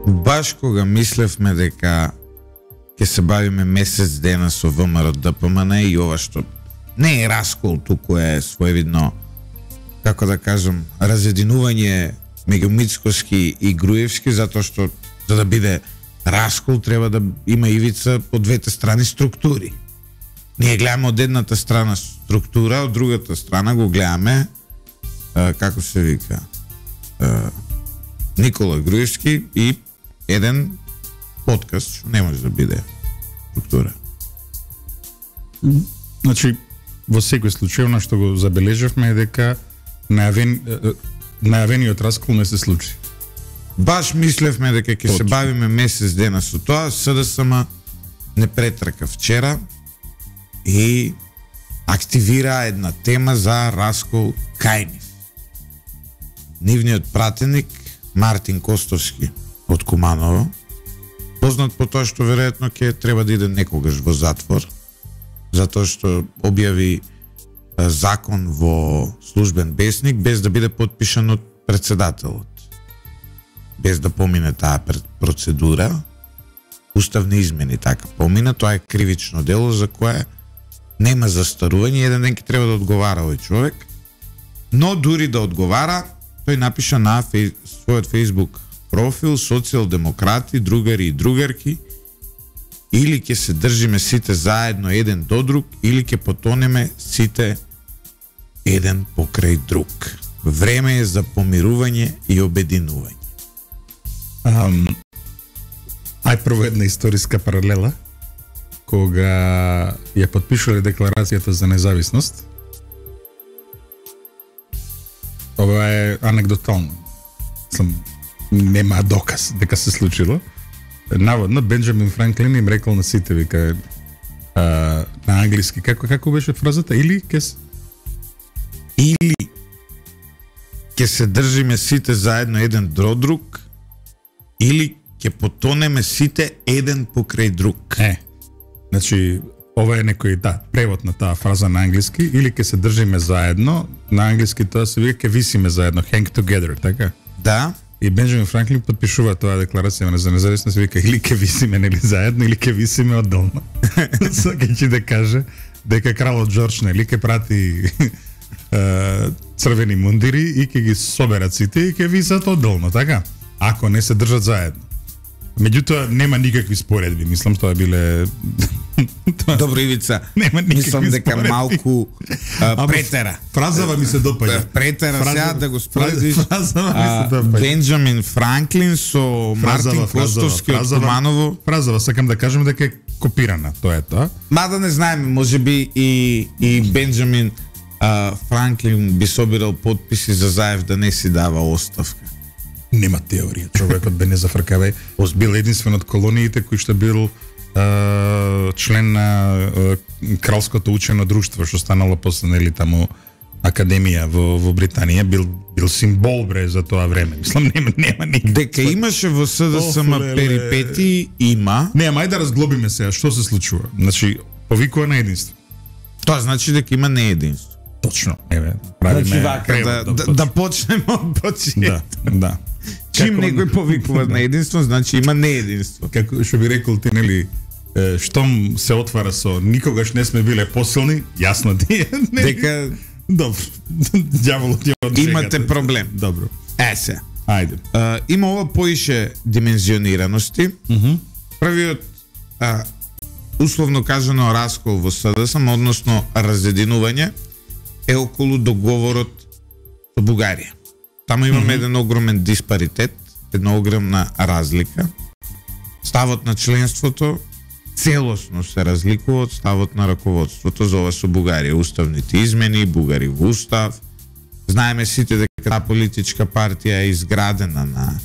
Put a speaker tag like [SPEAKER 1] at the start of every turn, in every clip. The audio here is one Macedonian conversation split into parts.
[SPEAKER 1] Баш кога мислевме дека ќе се бавиме месец дена со ВМРО ДПМН и ова што не е раскол, туку е своевидно, како да кажам, разединување меѓу Мицкоски и Груевски, затоа што за да биде раскол треба да има ивица од двете страни структури. Ние гледаме од едната страна структура, од другата страна го гледаме како се вика Никола Груевски и еден подкаст што не може да биде структура.
[SPEAKER 2] Значи, во секој случај, она што го забележавме е дека најавениот раскол не се случи.
[SPEAKER 1] Баш мислевме дека ќе се бавиме месец дена со тоа, СДСМ не претрка вчера и активира една тема за раскол кај нив. Нивниот пратеник Мартин Костовски од Куманово, познат по тоа што веројатно ќе треба да иде некогаш во затвор, затоа што објави закон во службен бесник без да биде подпишан од председателот. Без да помине таа процедура, уставни измени така помина, тоа е кривично дело за кое нема застарување, еден ден ќе треба да одговара овој човек, но дури да одговара, тој напиша на својот Facebook профил социјалдемократи, другари и другарки, или ќе се држиме сите заедно еден до друг, или ќе потонеме сите еден покрај друг. Време е за помирување и обединување.
[SPEAKER 2] Ај прво една историска паралела, кога ја подпишале декларацијата за независност. Ова е анегдотално. Нема доказ дека се случило. Наводно Бенџамин Франклин им рекол на сите, вика, на англиски, како беше фразата? Или
[SPEAKER 1] ќе се држиме сите заедно еден до друг, или ќе потонеме сите еден покрај друг.
[SPEAKER 2] Значи, ова е некој превод на таа фраза на англиски, или ќе се држиме заедно, на англиски тоа се вика ќе висиме заедно, hang together, така?
[SPEAKER 1] Да.
[SPEAKER 2] И Бенџамин Франклин подпишува тоа декларација за независност, вика или ќе висиме нели заедно, или ќе висиме одделно. Сакајќи да каже дека кралот Џорџ нели ќе прати црвени мундири и ќе ги соберат сите и ќе висат одделно, така? Ако не се држат заедно. Меѓутоа нема никакви споредби, мислам тоа биле
[SPEAKER 1] Добро, Ивица, мислам дека малку претера.
[SPEAKER 2] Фразава ми се допаѓа.
[SPEAKER 1] Претера сега да го споредиш Бенџамин Франклин со Мартин Костовски од Куманово.
[SPEAKER 2] Фразава, сакам да кажам дека е копирана, тоа е тоа.
[SPEAKER 1] Мада не знаеме, можеби и Бенџамин Франклин би собирал подписи за Заев да не си дава оставка.
[SPEAKER 2] Нема теорија. Човекот бе незафркавај. Бил единствен од колониите кој што бил член на кралското учено друштво што станало после нели таму академија во Британија, бил символ бре за тоа време. Мислам нема никаква.
[SPEAKER 1] Дека имаше во СДСМ перипети, има.
[SPEAKER 2] Нема, ајде да разглобиме сега што се случува. Значи, повикува на единство.
[SPEAKER 1] Тоа значи дека има неединство.
[SPEAKER 2] Точно. Еве, правиме
[SPEAKER 1] да почнеме од почеток.
[SPEAKER 2] Да.
[SPEAKER 1] Чим некој повикува на единство, значи има неединство.
[SPEAKER 2] Како што би рекол ти, нели, штом се отвара со никогаш не сме биле посилни, јасно ти е.
[SPEAKER 1] Дека
[SPEAKER 2] добро. Ѓаволот ја од
[SPEAKER 1] имате проблем.
[SPEAKER 2] Добро.
[SPEAKER 1] Се.
[SPEAKER 2] Ајде.
[SPEAKER 1] Има ова поише димензионираности. Првиот условно кажано раскол во СДСМ, односно разединување, е околу договорот со Бугарија. Таму имаме еден огромен диспаритет, една огромна разлика. Ставот на членството целосно се разликува од ставот на раководството за ова со Бугарија. Уставните измени, Бугари во устав. Знаеме сите дека таа политичка партија е изградена на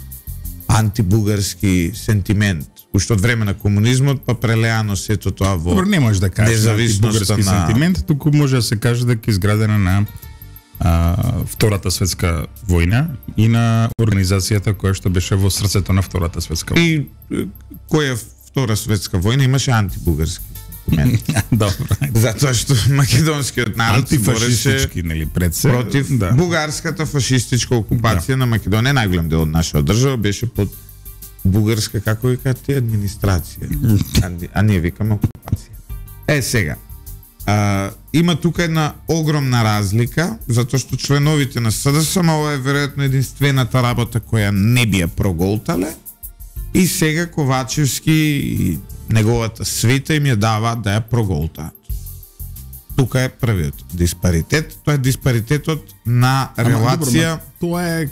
[SPEAKER 1] антибугарски сентимент. Уште од време на комунизмот, па прелеано сето тоа во
[SPEAKER 2] Добро, не може да каже антибугарски сентимент, туку може да се каже дека е изградена на Втората светска војна и на организацијата која што беше во срцето на Втората светска војна.
[SPEAKER 1] И која Втора светска војна имаше антибугарски сентимент.
[SPEAKER 2] Добро.
[SPEAKER 1] Затоа што македонскиот народ
[SPEAKER 2] антифашистички, нели, пред се
[SPEAKER 1] против бугарската фашистичка окупација на Македонија, најголем дел од нашата држава беше под Бугарска, како вика ти, администрација. А ние викаме окупација. Сега, има тука една огромна разлика, затоа што членовите на СДСМ, ова е веројатно единствената работа која не би ја проголтале, и сега Ковачевски и неговата свита им ја даваат да ја проголтаат. Тука е првиот диспаритет, тоа е диспаритетот на релација.
[SPEAKER 2] Тоа е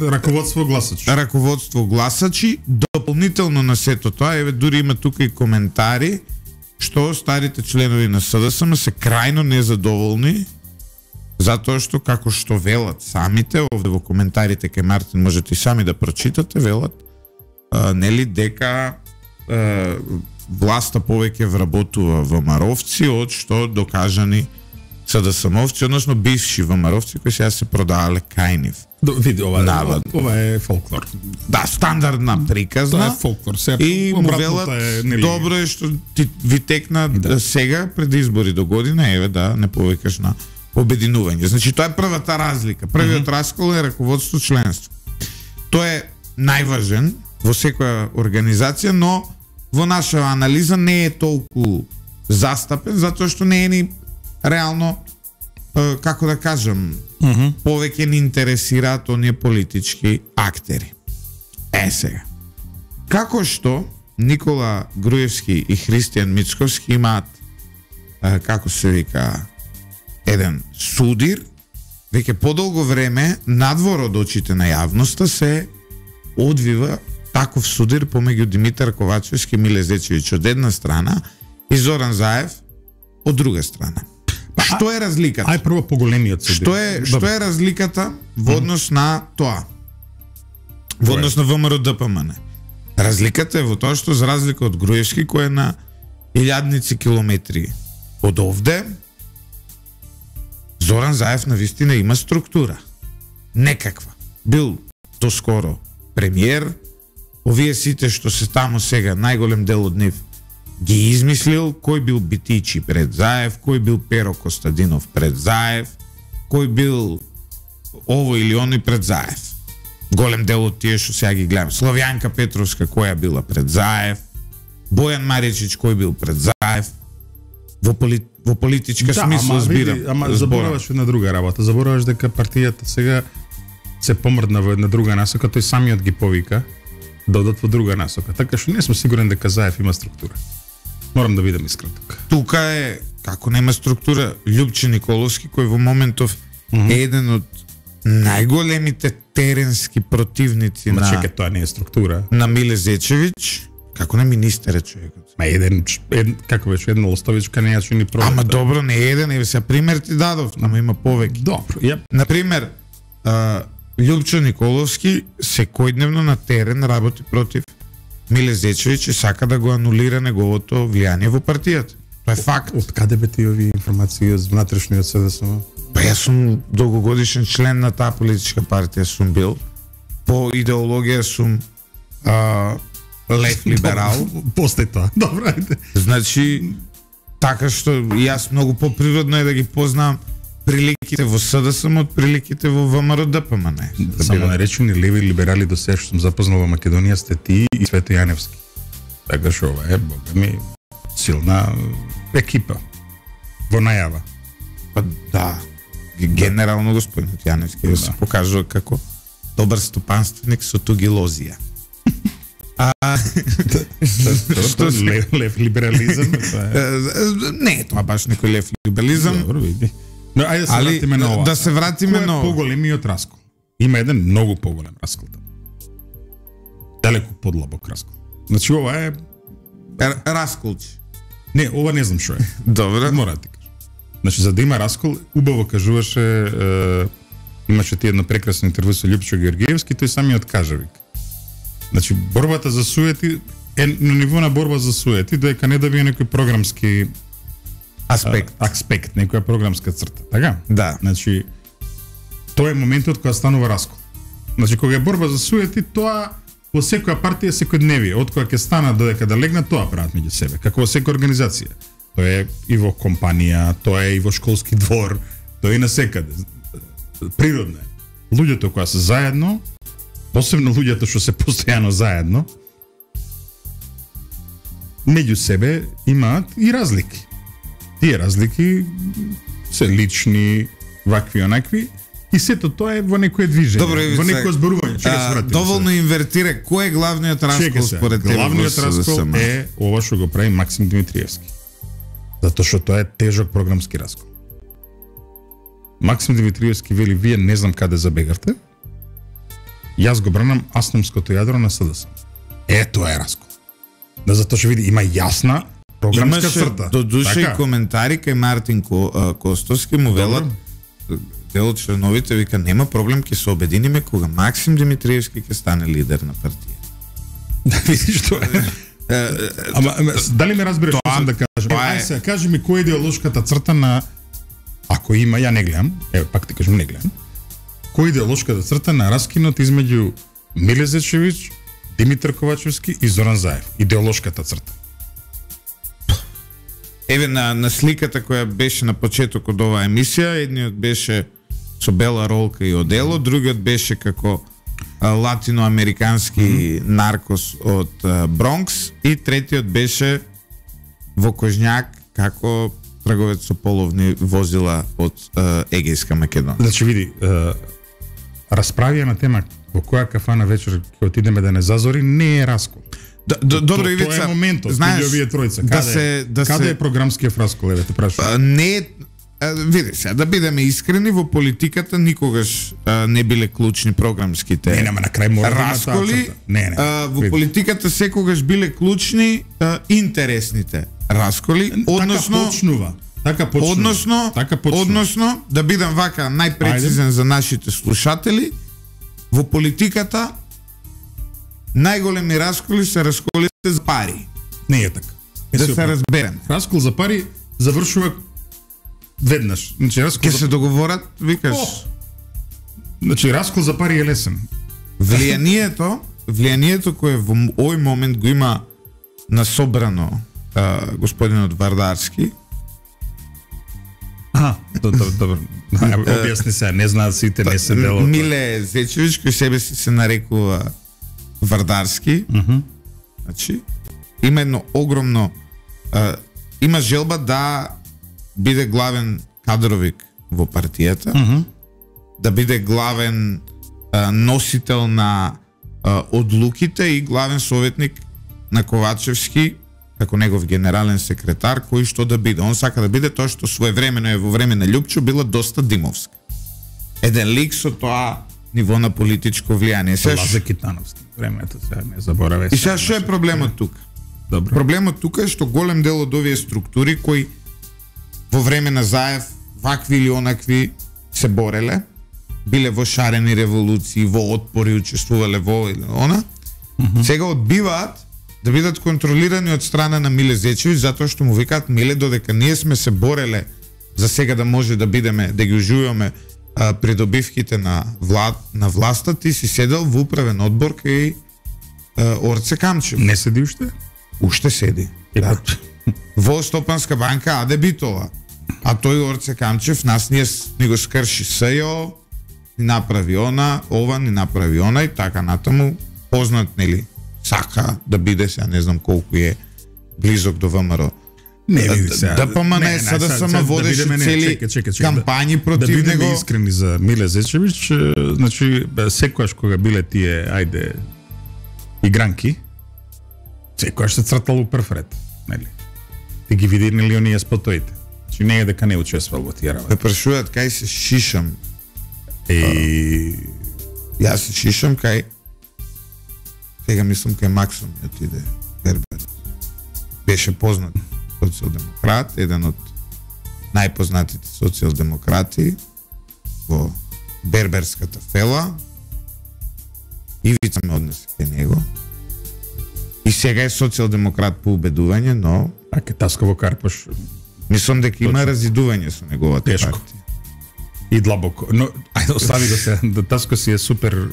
[SPEAKER 2] раководство гласачи.
[SPEAKER 1] Раководство гласачи, дополнително на сето тоа, еве дури има тука и коментари што старите членови на СДСМ се крајно незадоволни затоа што, како што велат самите, овде во коментарите кај Мартин можете и сами да прочитате, велат нели дека власта повеќе вработува ВМРО-вци од што докажани СДСМ-овци, односно бивши ВМРО-вци кои сега се продавале кај нив.
[SPEAKER 2] Види, ова е фолклор.
[SPEAKER 1] Да, стандардна приказна.
[SPEAKER 2] Тоа е фолклор.
[SPEAKER 1] И му велат, добро е што ти ви текна сега пред избори до година, еве да не повикаш на обединување. Значи тоа е првата разлика. Првиот раскол е раководство членство. Тоа е најважен во секоја организација, но во наша анализа не е толку застапен затоа што не е ни реално, како да кажам, повеќе ни интересираат оние политички актери. Сега. Како што Никола Груевски и Христијан Мицковски имаат, како се вика, еден судир, веќе подолго време надвор од очите на јавноста се одвива таков судир помеѓу Димитар Ковачевски, Миле Зечевиќ од една страна и Зоран Заев од друга страна. Што е разликата?
[SPEAKER 2] Ај прво поголемиот судир.
[SPEAKER 1] Што е разликата во однос на тоа? Во однос на ВМРО-ДПМН. Разликата е во тоа што, за разлика од Груевски, кој е на илјадници километри од овде, Зоран Заев навистина има структура. Некаква. Бил доскоро премиер, овие сите што се таму сега, најголем дел од нив ги измислил, кој бил Битичи пред Заев, кој бил Перо Костадинов пред Заев, кој бил ово или оној пред Заев. Голем дел од тие што сега ги гледам. Славјанка Петровска која била пред Заев, Бојан Маричич кој бил пред Заев. Во политичка смисла збирам.
[SPEAKER 2] Ама забораваш една друга работа. Забораваш дека партијата сега се помрдна во една друга насока, тој самиот ги повика да одат во друга насока. Така што не сум сигурен дека Заев има структура. Морам да видам искрено тука.
[SPEAKER 1] Тука е, како нема структура, Љупче Николовски, кој во моментов е еден од најголемите теренски противници
[SPEAKER 2] на тоа не е структура.
[SPEAKER 1] На Миле Зечевиќ, како не министер е човекот.
[SPEAKER 2] Како беше една Лостовичка не ја чини проект.
[SPEAKER 1] Ама добро, не е еден, еве се пример ти дадов, ама има повеќе.
[SPEAKER 2] Добро,
[SPEAKER 1] Например, Љупче Николовски секојдневно на терен работи против Миле Зечевиќ и сака да го анулира неговото влијание во партијата. Тоа е факт.
[SPEAKER 2] Од каде бе ти овие информации од внатрешниот СДСМ?
[SPEAKER 1] Па јас сум долгогодишен член на таа политичка партија сум бил. По идеологија сум лев либерал.
[SPEAKER 2] После тоа. Добро, ајде.
[SPEAKER 1] Значи, така што јас многу поприродно е да ги познам приликите во СДСМ од приликите во ВМРО-ДПМН.
[SPEAKER 2] Само наречени леви либерали до сега што сум запознал во Македонија сте ти и Свето Јаневски. Така што ова е, бога ми, силна екипа во најава.
[SPEAKER 1] Па да, генерално господин Јаневски се покажува како добар стопанственик со тугилозија.
[SPEAKER 2] Лев либерализам?
[SPEAKER 1] Не, тоа баш некој лев либерализам.
[SPEAKER 2] Добро, види. Но ајде се вратиме на ова.
[SPEAKER 1] Да се вратиме на ова.
[SPEAKER 2] Кој е поголемиот раскол? Има еден многу поголем раскол таму. Далеку подлабок раскол. Значи ова е
[SPEAKER 1] расколчи.
[SPEAKER 2] Не, ова не знам што е.
[SPEAKER 1] Добро.
[SPEAKER 2] Мора да ти кажам. Значи за да има раскол, убаво кажуваше, имаше ти едно прекрасно интервју со Љупчо Георгиевски, тој самиот кажа вик. Значи борбата за суети е на ниво на борба за суети, доека не добие некој програмски аспект, некоја програмска црта, така?
[SPEAKER 1] Да.
[SPEAKER 2] Значи, тоа е моментот кога станува раскол. Значи, кога е борба за суети, тоа во секоја партија секојдневие, од кога ќе станат додека да легнат, тоа прават меѓу себе, како во секоја организација. Тоа е и во компанија, тоа е и во школски двор, тоа е и на секаде. Природно е. Луѓето кои се заедно посебно луѓето што се постојано заедно, меѓу себе имаат и разлики. Тие разлики се лични, вакви онакви, и сето тоа е во некое движење,
[SPEAKER 1] Добро,
[SPEAKER 2] во некое зборување.
[SPEAKER 1] Доволно инвертира, кој е главниот раскол според тебе?
[SPEAKER 2] Главниот раскол е ова што го прави Максим Димитриевски. Затоа што тоа е тежок програмски раскол. Максим Димитриевски вели, вие не знам каде забегарте, јас го бранам асномското јадро на СДС. Тоа е раскол. Да, затоа што види, има јасна програмска црта.
[SPEAKER 1] До душа и коментари кај Мартин Костовски му велат, дел од членовите вика, нема проблем, ќе се обединиме кога Максим Димитриевски ќе стане лидер на партија.
[SPEAKER 2] Видиш тоа е. Ама дали ме разбираш што сам да кажам? Ајде, кажи ми која е идеолошката црта на, ако има, ја не гледам, пак ти кажам, не гледам. Која е идеолошката црта на раскинот измеѓу Миле Зечевич, Димитар Ковачевски и Зоран Заев? Идеолошката црта.
[SPEAKER 1] Еве на сликата која беше на почетокот од оваа емисија, едниот беше со бела ролка и одело, другиот беше како латиноамерикански наркос од Бронкс и третиот беше во Кожњак како трговец со половни возила од Егејска Македонија.
[SPEAKER 2] Значи види, расправија на тема во која кафана вечер ќе отидеме да не зазори не е раскол.
[SPEAKER 1] Добро, Ивица,
[SPEAKER 2] тоа е моментот,
[SPEAKER 1] знаеш,
[SPEAKER 2] овие тројца. Каде е програмскиот раскол, еве те прашувам?
[SPEAKER 1] Не, види се, да бидеме искрени, во политиката никогаш не биле клучни програмските
[SPEAKER 2] на крај мора
[SPEAKER 1] расколи. Во политиката секогаш биле клучни интересните расколи, односно
[SPEAKER 2] Така почнува.
[SPEAKER 1] Односно, да бидам вака најпрецизен за нашите слушатели, во политиката најголеми расколи се расколите за пари.
[SPEAKER 2] Не е така.
[SPEAKER 1] Да се разбереме.
[SPEAKER 2] Раскол за пари завршува веднаш. Значи раскол
[SPEAKER 1] се договорат, викаш.
[SPEAKER 2] Значи раскол за пари е лесен.
[SPEAKER 1] Влијанието кое во овој момент го има насобрано господинот Вардарски.
[SPEAKER 2] Добро. Објасни се, не знаат сите, не се дело.
[SPEAKER 1] Миле Зечевич, кој себе се нарекува Вардарски. Значи, има едно огромно има желба да биде главен кадровик во партијата, да биде главен носител на одлуките и главен советник на Ковачевски како негов генерален секретар, кој што да биде. Он сака да биде тоа што своевремено е во време на Љупчо била доста димовска. Еден лик со тоа ниво на политичко влијание.
[SPEAKER 2] Лазе Китановски, времето сега не забораве.
[SPEAKER 1] И сега што е проблемот тука?
[SPEAKER 2] Добро.
[SPEAKER 1] Проблемот тука е што голем дел од овие структури кои во време на Заев вакви или онакви се бореле, биле во шарени револуции, во отпори, учествувале во или она, сега одбиваат да бидат контролирани од страна на Миле Зечевич, затоа што му викаат, Миле, додека ние сме се бореле за сега да може да бидеме, да ги уживаме придобивките на власта, ти си седел во управен одбор кај Орце Камчев.
[SPEAKER 2] Не седи уште?
[SPEAKER 1] Уште седи. Да. Во Стопанска банка Аде Битола. А тој Орце Камчев нас ни го скрши СЈО, ни направи ова, ни направи она и така натаму. Познат, нели, сака да биде, сега не знам колку е близок до ВМРО.
[SPEAKER 2] Не види се.
[SPEAKER 1] ДПМН СДСМ водеше цели кампањи против него.
[SPEAKER 2] Да бидеме искрени за Миле Зечевич, значи секогаш кога биле тие игранки, секогаш се цртало прв ред, нели? Ти ги види нели оние спотоите. Значи не е дека не учествувал во тие работи.
[SPEAKER 1] Ме прашуваат кај се шишам. Јас се шишам кај, сега мислам кај Максом ми отиде Бербер. Беше познат социјалдемократ, еден од најпознатите социјалдемократи во Берберската фела. Ивица ме однесе кај него. И сега е социјалдемократ по убедување, но
[SPEAKER 2] Аке Таско во Карпош.
[SPEAKER 1] Мислам дека има разидување со неговата партија.
[SPEAKER 2] И длабоко. Но ајде остави го се. Таско си е супер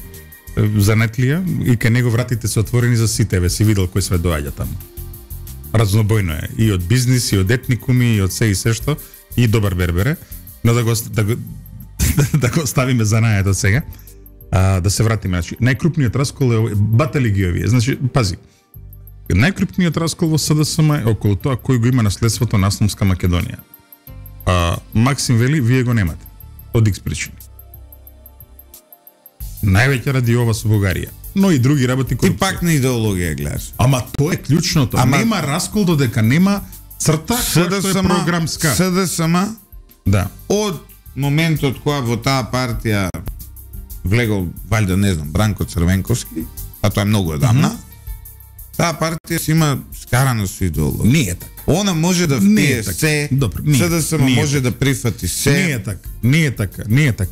[SPEAKER 2] занетлија и кај него вратите се отворени за сите, ве си видел кој све доаѓа таму. Разнобојно е и од бизнис, и од етникуми, и од се и се што, и добар бербере, но да го оставиме за најдот сега. Да се вратиме, значи најкрупниот раскол е батали ги овие. Значи, пази. Најкрупниот раскол во СДСМ е околу тоа кој го има наследството на Исламска Македонија. Максим вели, вие го немате. Од X причини. Највеќе ради ова со Бугарија. Но и други работи
[SPEAKER 1] корупција. И пак на идеологија гледаш.
[SPEAKER 2] Ама тоа е клучното. Нема раскол додека нема црта која што е програмска.
[SPEAKER 1] СДСМ,
[SPEAKER 2] да.
[SPEAKER 1] Од моментот кога во таа партија влегол, валјда не знам, Бранко Црвенковски, а тоа е многу одамна, таа партија си има скарано со идеологија.
[SPEAKER 2] Не е така.
[SPEAKER 1] Она може да впие се, СДСМ може да прифати се.
[SPEAKER 2] Не е така.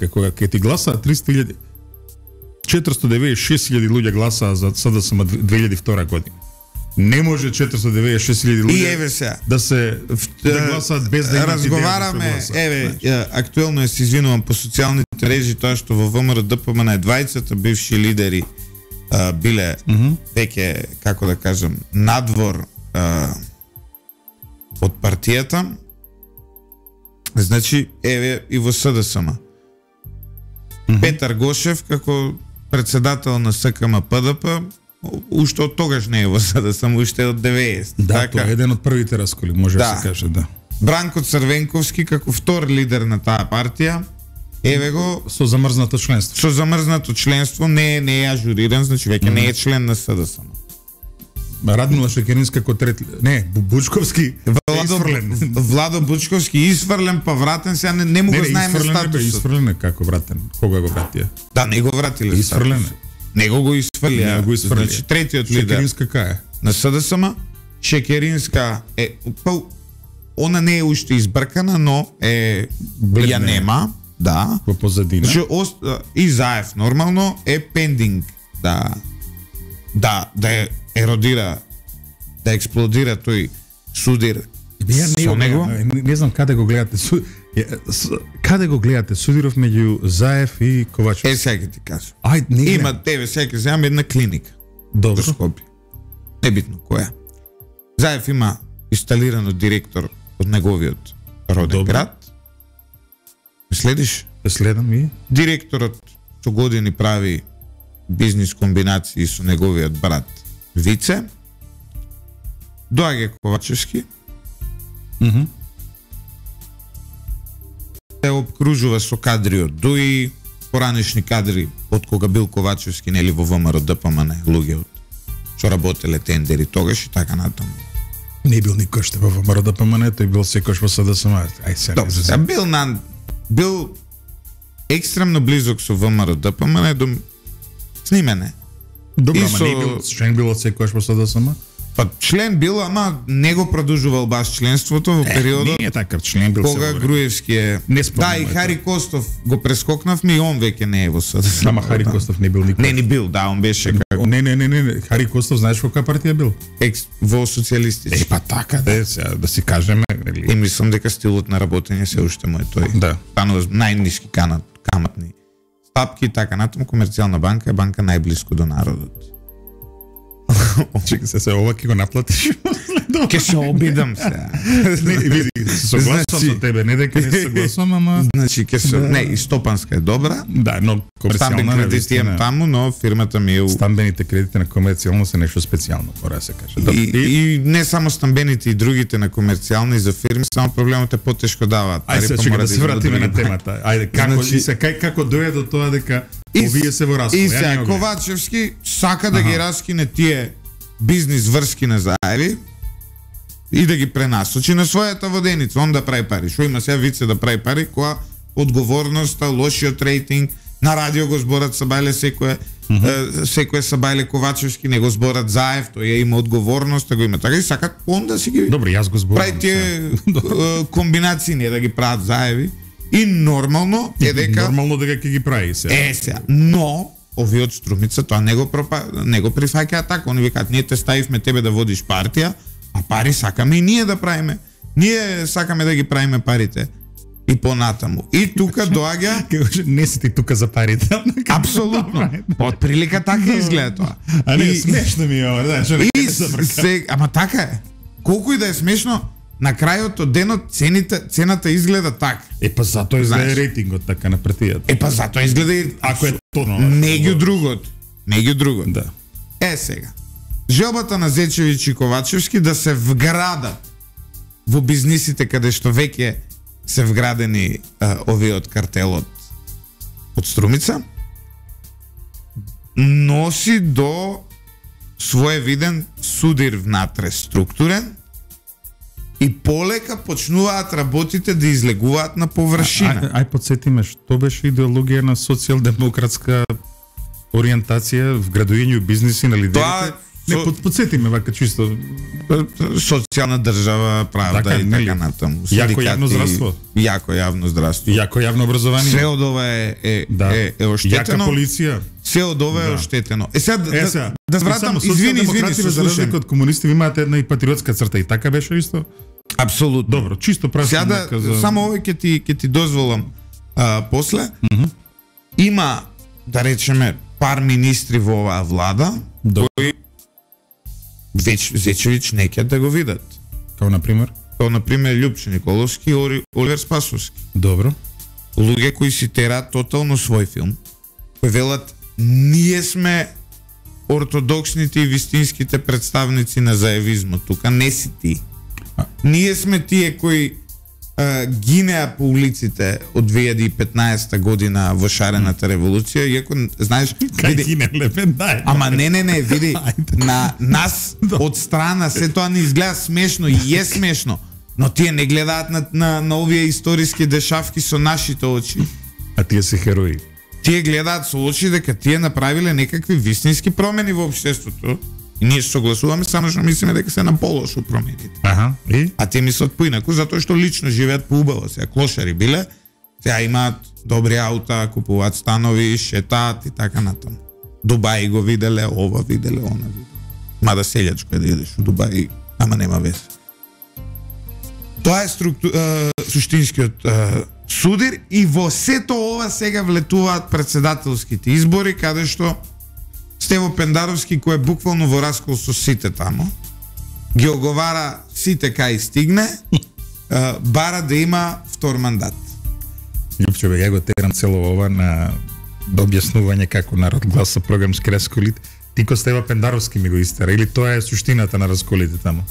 [SPEAKER 2] Кога ќе ти гласа 300.000 496.000 луѓе гласаа за СДСМ 2002 година. Не може 496.000 луѓе да гласаат без да имат
[SPEAKER 1] разговараме, актуелно се извинувам по социјалните мрежи, тоа што во ВМРО ДПМН на двајцата бивши лидери биле веќе, како да кажам, надвор од партијата. Значи, и во СДСМ. Петар Гошев како председател на СКМ ПДП уште од тогаш не е во СДСМ, уште од 90.
[SPEAKER 2] Да, тоа е еден од првите расколи, може да се каже, да.
[SPEAKER 1] Бранко Црвенковски како втор лидер на таа партија, еве го
[SPEAKER 2] со замрзнато членство.
[SPEAKER 1] Со замрзнато членство, не е ажуриран, значи веќе не е член на СДСМ.
[SPEAKER 2] Радмила Шекеринска како трети, не, Бучковски
[SPEAKER 1] Владо Бучковски изфрлен па вратен, сега не му го знаеме статусот.
[SPEAKER 2] Изфрлен како вратен? Кога го вратија?
[SPEAKER 1] Да, не го вратиле.
[SPEAKER 2] Изфрлен.
[SPEAKER 1] Него го изфрлија. Значи третиот лидер.
[SPEAKER 2] Шекеринска кај е?
[SPEAKER 1] На СДСМ Шекеринска е она не е уште избркана, но ја нема, да.
[SPEAKER 2] Во позадина.
[SPEAKER 1] Значи и Заев нормално е пендинг да еродира, да експлодира тој судир со него.
[SPEAKER 2] Не знам каде го гледате. Каде го гледате судиров меѓу Заев и Ковачевски?
[SPEAKER 1] Сега ти кажам.
[SPEAKER 2] Има
[SPEAKER 1] сега земам една клиника.
[SPEAKER 2] Добро.
[SPEAKER 1] Скопје. Небитно која. Заев има инсталирано директор од неговиот роден град. Следиш?
[SPEAKER 2] Следам и
[SPEAKER 1] директорот со години прави бизнис комбинации со неговиот брат Вице. Доаѓа Ковачевски. Се обкружува со кадри од ДУИ, поранешни кадри од кога бил Ковачевски, нели во ВМРО ДПМН, луѓе од што работеле тендери тогаш и така натаму.
[SPEAKER 2] Не бил никој што во ВМРО ДПМН, тој бил секој во СДСМ.
[SPEAKER 1] Бил екстремно близок со ВМРО ДПМН до снимене.
[SPEAKER 2] Добро, ама не бил член бил од секојаш во СДСМ?
[SPEAKER 1] Па член бил, ама не го продолжувал баш членството во периодот.
[SPEAKER 2] Не е така, член бил
[SPEAKER 1] кога Груевски е. Да, и Хари Костов го прескокнавме и он веќе не е во СДСМ.
[SPEAKER 2] Ама Хари Костов не бил никој.
[SPEAKER 1] Не бил, да, он беше како.
[SPEAKER 2] Не, Хари Костов знаеш во која партија бил?
[SPEAKER 1] Во социјалистички.
[SPEAKER 2] Па така, да си кажеме, нели?
[SPEAKER 1] И мислам дека стилот на работење се уште му е тој.
[SPEAKER 2] Да.
[SPEAKER 1] Станува најниски каматни стапки, така натаму Комерцијална банка е банка најблиску до народот.
[SPEAKER 2] Чека се ова ќе го наплатиш.
[SPEAKER 1] Ке се обидам се.
[SPEAKER 2] Не, види, согласувам со тебе, не дека не согласувам, ама
[SPEAKER 1] значи ке се не, и стопанска е добра.
[SPEAKER 2] Да, но
[SPEAKER 1] комерцијална кредити имам таму, но фирмата ми е
[SPEAKER 2] стамбените кредити на комерцијално се нешто специјално, мора да се каже.
[SPEAKER 1] И не само стамбените и другите на комерцијални за фирми, само проблемот е потешко даваат.
[SPEAKER 2] Ајде сега да се вратиме на темата. Ајде, како дојде до тоа дека овие се во раскол?
[SPEAKER 1] И сега Ковачевски сака да ги раскине тие бизнис врски на Заеви и да ги пренасочи на својата воденица, он да прави пари. Шо има сега Вице да прави пари, која одговорноста, лошиот рейтинг, на радио го зборат Сабајле секој Сабајле Ковачевски, не го зборат Заев, тој има одговорност, го има така и сакат он да си ги
[SPEAKER 2] добро, јас го зборам.
[SPEAKER 1] Прави тие комбинации, не да ги прават Заеви и нормално е дека
[SPEAKER 2] ќе ги прави сега.
[SPEAKER 1] Сега, но овие од Струмица тоа не го прифаќаат така, они викаат ние те ставивме тебе да водиш партија, а пари сакаме и ние да правиме. Ние сакаме да ги правиме парите. И понатаму. И тука доаѓа
[SPEAKER 2] не си ти тука за парите.
[SPEAKER 1] Апсолутно. Од прилика така изгледа тоа.
[SPEAKER 2] А не смешно ми е ова, да,
[SPEAKER 1] ама така е. Колку и да е смешно, на крајот од денот цената изгледа така.
[SPEAKER 2] Па затоа изгледа рейтингот така на партијата.
[SPEAKER 1] Па затоа изгледа и
[SPEAKER 2] ако е тоа
[SPEAKER 1] меѓу другото.
[SPEAKER 2] Да.
[SPEAKER 1] Сега. Желбата на Зечевиќ и Ковачевски да се вградат во бизнисите каде што веќе се вградени овие од картелот од Струмица, носи до своевиден судир внатре структурен и полека почнуваат работите да излегуваат на површина.
[SPEAKER 2] Ај подсетиме, што беше идеологија на социјалдемократска ориентација в градување бизниси на лидерите? Подсетиме вака чисто.
[SPEAKER 1] Социјална држава, правда и така натаму.
[SPEAKER 2] Јако јавно здравство.
[SPEAKER 1] Јако јавно здравство.
[SPEAKER 2] Јако јавно образование.
[SPEAKER 1] Се од ова е оштетено.
[SPEAKER 2] Јака полиција.
[SPEAKER 1] Се од ова е оштетено. Сега да вратам, извини,
[SPEAKER 2] слушам. Од комунисти имаат една и патриотска црта и така беше исто?
[SPEAKER 1] Апсолутно.
[SPEAKER 2] Добро, чисто прашам.
[SPEAKER 1] Сега само овој ќе ти дозволам после. Има, да речеме, пар министри во оваа влада кои Зечевиќ не ќе да го видат.
[SPEAKER 2] Као например
[SPEAKER 1] Љупчо Николовски и Оливер Спасовски.
[SPEAKER 2] Добро.
[SPEAKER 1] Луѓе кои си тераат тотално свој филм, кои велат ние сме ортодоксните и вистинските представници на заевизмот, тука не си ти. Ние сме тие кои гинеа по улиците од 2015 година во шарената револуција, иако знаеш, види, ама не, види, на нас од страна се тоа не изгледа смешно и е смешно, но тие не гледаат на овие историски дешавки со нашите очи.
[SPEAKER 2] А тие се херои.
[SPEAKER 1] Тие гледаат со очи дека тие направиле некакви вистински промени во општеството. И ние согласуваме, само што мислиме дека се на полошо промените. А те мислат поинаку, затоа што лично живеат поубаво. Сега клошари биле, сега имаат добри аута, купуваат станови, шетаат и така натаму. Дубај го виделе, ова виделе, она виделе. Мада селјачко е да идеш у Дубај, ама нема везе. Тоа е суштинскиот судир и во сето ова сега влетуваат председателските избори, каде што Стево Пендаровски, кој е буквално во раскол со сите тамо, ги оговара сите кај стигне, бара да има втор мандат.
[SPEAKER 2] Љупчо, ја го терам цело ова на објаснување како народ гласа програмски расколит. Ти ко Стево Пендаровски ми го истера, или тоа е суштината на расколите тамо?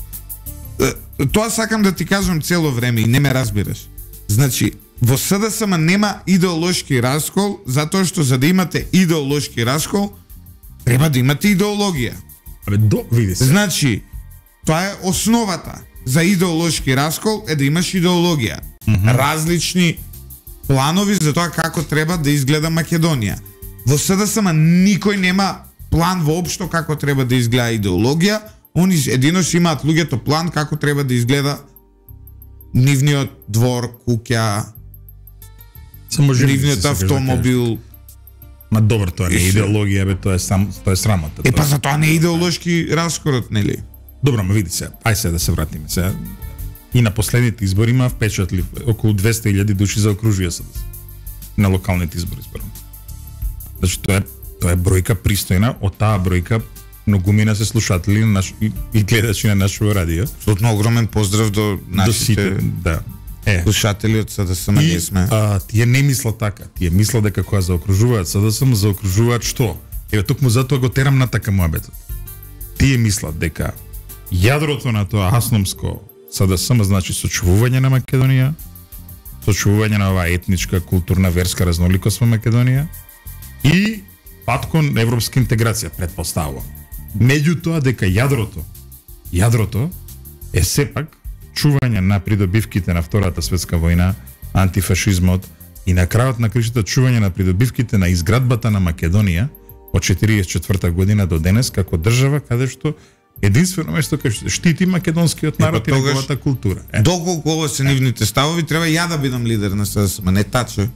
[SPEAKER 1] Тоа сакам да ти кажам цело време и не ме разбираш. Значи, во СДСМ нема идеолошки раскол, затоа што за да имате идеолошки раскол, треба да имате идеологија.
[SPEAKER 2] Види се.
[SPEAKER 1] Значи, тоа е основата за идеолошки раскол е да имаш идеологија. Различни планови за тоа како треба да изгледа Македонија. Во СДСМ никој нема план воопшто како треба да изгледа идеологија, они единош имаат луѓето план како треба да изгледа нивниот двор, куќа, нивниот автомобил.
[SPEAKER 2] Ма добро, тоа не е идеологија, бе, тоа е срамота.
[SPEAKER 1] Па за тоа не е идеолошки раскорот, нели?
[SPEAKER 2] Добро, ма види се, ај се да се вратиме се. И на последните избори има впечатлив околу 200.000 души заокружија се на локалните избори, зборам. Значи тоа е бројка пристојна, од таа бројка многумина се слушатели на и гледачи на нашето радио.
[SPEAKER 1] Абсолютно огромен поздрав до нашите слушатели од СДСМ. Ние сме.
[SPEAKER 2] Тие не мислат така. Тие мислат дека кога заокружуваат СДСМ, заокружуваат што? Еве токму затоа го терам на така муабетот. Тие мислат дека јадрото на тоа асномско СДСМ значи сочувување на Македонија, сочувување на оваа етничка, културна, верска разноликост во Македонија и пат кон европска интеграција, предпоставувам. Меѓутоа дека јадрото е сепак чување на придобивките на Втората светска војна, антифашизмот и на крајот на кришата чување на придобивките на изградбата на Македонија од 44 година до денес како држава каде што единствено место кај што штити македонскиот народ и неговата култура.
[SPEAKER 1] Доколку ова се нивните ставови, треба ја да бидам лидер на СДСМ, не таче.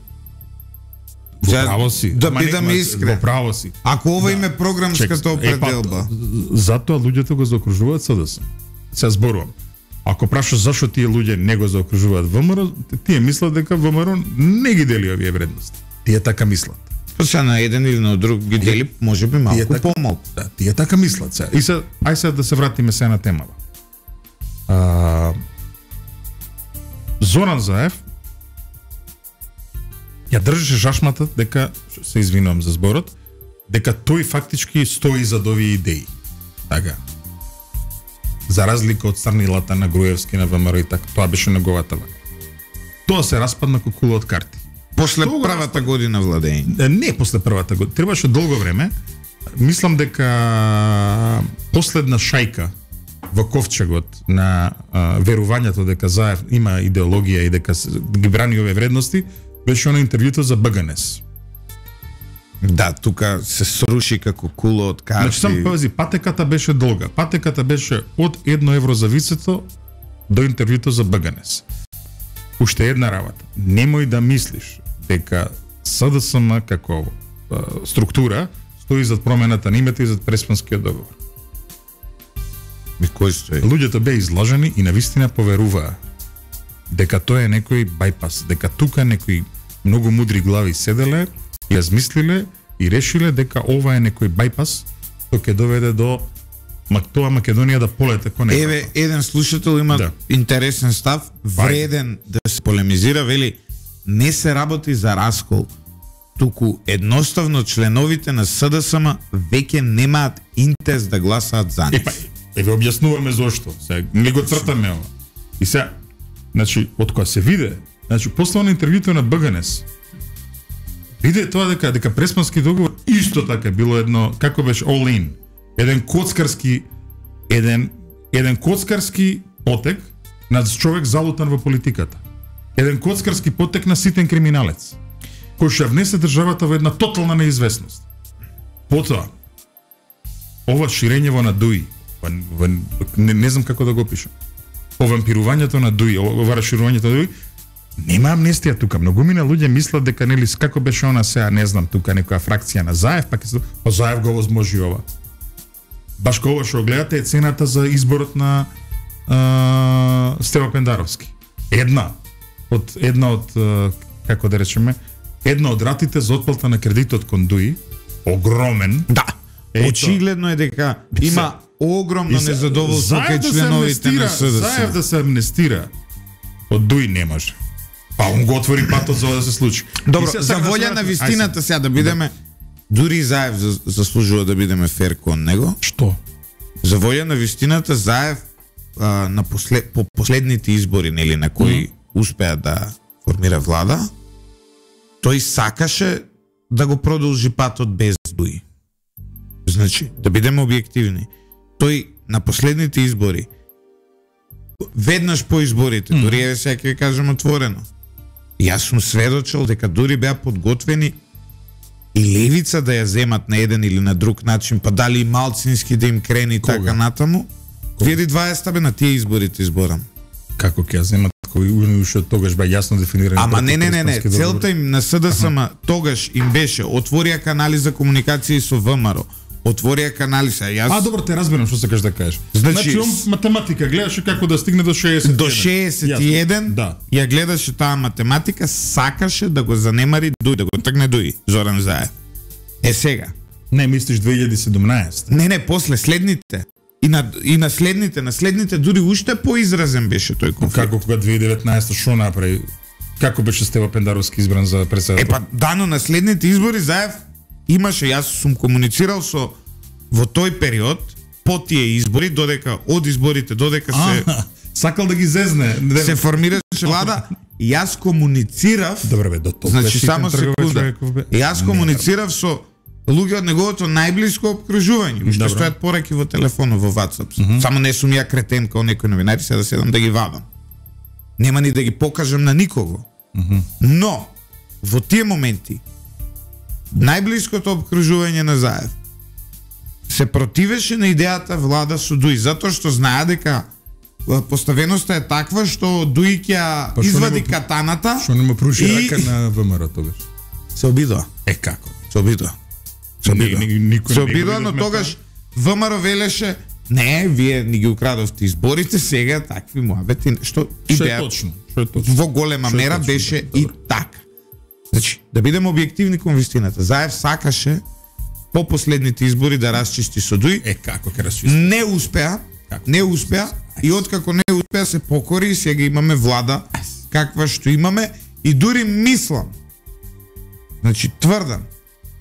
[SPEAKER 2] Во право си.
[SPEAKER 1] Да бидам искрен.
[SPEAKER 2] Во право си.
[SPEAKER 1] Ако ова име програмската определба.
[SPEAKER 2] Затоа луѓето го заокружуваат СДСМ. Се зборувам. Ако прашаш зашто тие луѓе не го заокружуваат ВМРО, тие мислат дека ВМРО не ги дели овие вредности. Тие така мислат.
[SPEAKER 1] Па на еден или на друг ги дели, можеби малку помалку.
[SPEAKER 2] Да, тие така мислат се. И се, ај се да се вратиме се на темава. Зоран Заев ја држеше жашмата дека, се извинувам за зборот, дека тој фактички стои за овие идеи. Така. За разлика од Црнилата на Груевски, на ВМРО и така, тоа беше неговата вака. Тоа се распадна како кула од карти.
[SPEAKER 1] После првата година владење.
[SPEAKER 2] Не после првата година, требаше долго време. Мислам дека последна шајка во ковчегот на верувањето дека Заев има идеологија и дека ги брани овие вредности, беше оно интервјуто за БГНС.
[SPEAKER 1] Да, тука се сруши како кула од карти.
[SPEAKER 2] Значи, сам пази, патеката беше долга. Патеката беше од 1 евро за вицето до интервјуто за БГНС. Уште една работа. Немој да мислиш дека СДСМ како структура стои зад промената на името и зад Преспанскиот договор.
[SPEAKER 1] И кој стои?
[SPEAKER 2] Луѓето беа излажени и навистина поверуваа дека тоа е некој бајпас, дека тука некои многу мудри глави седеле, ја змислиле и решиле дека ова е некој бајпас што ќе доведе до тоа Македонија да полете кон него.
[SPEAKER 1] Еве, еден слушател има интересен став, вреден да се полемизира, вели, не се работи за раскол, туку едноставно членовите на СДСМ веќе немаат интерес да гласаат за нив.
[SPEAKER 2] Еве објаснуваме зошто. Сега не го цртаме ова. И сега, значи, од кога се виде, значи после на интервјуто на БГНС, виде тоа дека Преспански договор исто така било едно, како беше all in, еден коцкарски потек на човек залутан во политиката. Еден коцкарски потек на ситен криминалец, кој ќе внесе државата во една тотална неизвестност. Потоа, ова ширење во надуи, не знам како да го пишам, повампирувањето на дуи, ова расширувањето на дуи, нема амнестија тука. Многумина луѓе мислат дека нели како беше она сега, не знам, тука некоја фракција на Заев, пак па Заев го возможи ова. Баш кога што гледате е цената за изборот на Стево Пендаровски. Една од како да речеме, една од ратите за отплата на кредитот кон дуи, огромен.
[SPEAKER 1] Да. Очигледно е дека има огромно незадоволство кај членовите на СДСМ.
[SPEAKER 2] Заев да се амнестира од дуи не може. Па он го отвори патот за да се случи.
[SPEAKER 1] Добро, за волја на вистината сега да бидеме, дури Заев заслужува да бидеме фер кон него.
[SPEAKER 2] Што?
[SPEAKER 1] За волја на вистината Заев по последните избори, нели, на кои успеа да формира влада, тој сакаше да го продолжи патот без дуи. Значи, да бидеме објективни, тој на последните избори, веднаш по изборите, дури еве сега ќе кажем отворено, јас сум сведочел дека дури беа подготвени и левица да ја земат на еден или на друг начин, па дали и малцински да им крени така натаму. 2020 бе на тие изборите изборам.
[SPEAKER 2] Како ќе ја земат кој уште тогаш бе јасно дефинирани?
[SPEAKER 1] Ама не, целта им на СДСМ тогаш им беше отворија канали за комуникација со ВМРО. Отворија канали са јас.
[SPEAKER 2] Добро, те разбирам што сакаш да кажеш.
[SPEAKER 1] Значи
[SPEAKER 2] математика гледаше како да стигне до 61.
[SPEAKER 1] До 61.
[SPEAKER 2] Да.
[SPEAKER 1] Ја гледаше таа математика, сакаше да го занемари дуи, да го тргне дуи Зоран Заев. Сега.
[SPEAKER 2] Не мислиш 2017?
[SPEAKER 1] Не, после следните. И на следните дури уште поизразен беше тој конфликт.
[SPEAKER 2] Како кога 2019 што направи? Како беше Стево Пендаровски избран за претседател?
[SPEAKER 1] Дано на следните избори Заев имаше, јас сум комуницирал со во тој период по тие избори, додека од изборите додека се
[SPEAKER 2] сакал да ги зезне,
[SPEAKER 1] се формираше влада, јас комуницирав.
[SPEAKER 2] Добре бе, до тоа.
[SPEAKER 1] Значи само секунда. Јас комуницирав со луѓе од неговото најблиско опкружување. Уште стојат пораки во телефонот, во WhatsApp. Само не сум ја кретен као некој новинари, сега да седам да ги вадам. Нема ни да ги покажам на никого. Но во тие моменти најблиското опкружување на Заев се противеше на идејата влада со дуи, затоа што знае дека поставеноста е таква што дуи ќе извади катаната.
[SPEAKER 2] Што нема пруши рака на ВМРО тогаш.
[SPEAKER 1] Се обидува.
[SPEAKER 2] Како?
[SPEAKER 1] Се обидува. Се обидува, но тогаш ВМРО велеше не, вие ни ги украдовте изборите, сега такви муабети, што
[SPEAKER 2] е точно.
[SPEAKER 1] Во голема мера беше и така. Значи, да бидеме објективни кон вистината, Заев сакаше по последните избори да расчисти со дуи.
[SPEAKER 2] Како ќе расчисти?
[SPEAKER 1] Не успеа и откако не успеа се покори и сега имаме влада каква што имаме и дури мислам, значи тврдам,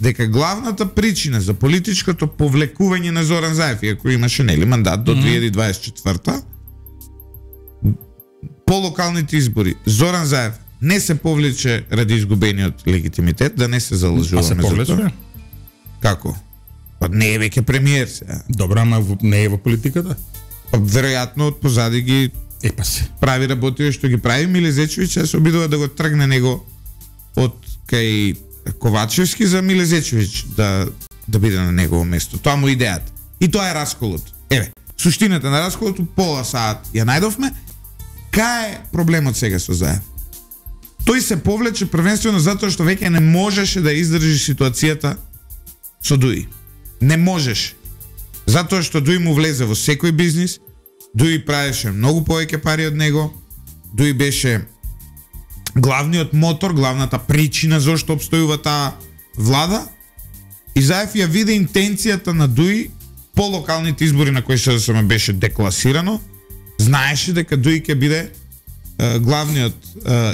[SPEAKER 1] дека главната причина за политичкото повлекување на Зоран Заев, иако имаше нели мандат до 2024-та, по локалните избори, Зоран Заев не се повлече ради изгубениот легитимитет, да не се залажуваме за тоа. Како? Па не е веќе премиер сега.
[SPEAKER 2] Добро, ама не е во политиката?
[SPEAKER 1] Па веројатно од позади ги прави работи што ги прави. Милезечевиќ се обидува да го тргне него од кај Ковачевски за Милезечевиќ да биде на негово место. Тоа му идејата. И тоа е расколот. Еве, суштината на расколот пола саат ја најдовме. Кај е проблемот сега со Заев? Тој се повлече првенствено затоа што веќе не можеше да издржи ситуацијата со Дуи. Не можеше. Затоа што Дуи му влезе во секој бизнис, Дуи правеше многу повеќе пари од него, Дуи беше главниот мотор, главната причина зашто обстојува таа влада, и Заев ја виде интенцијата на Дуи по локалните избори на кои СДСМ беше декласирано, знаеше дека Дуи ќе биде главниот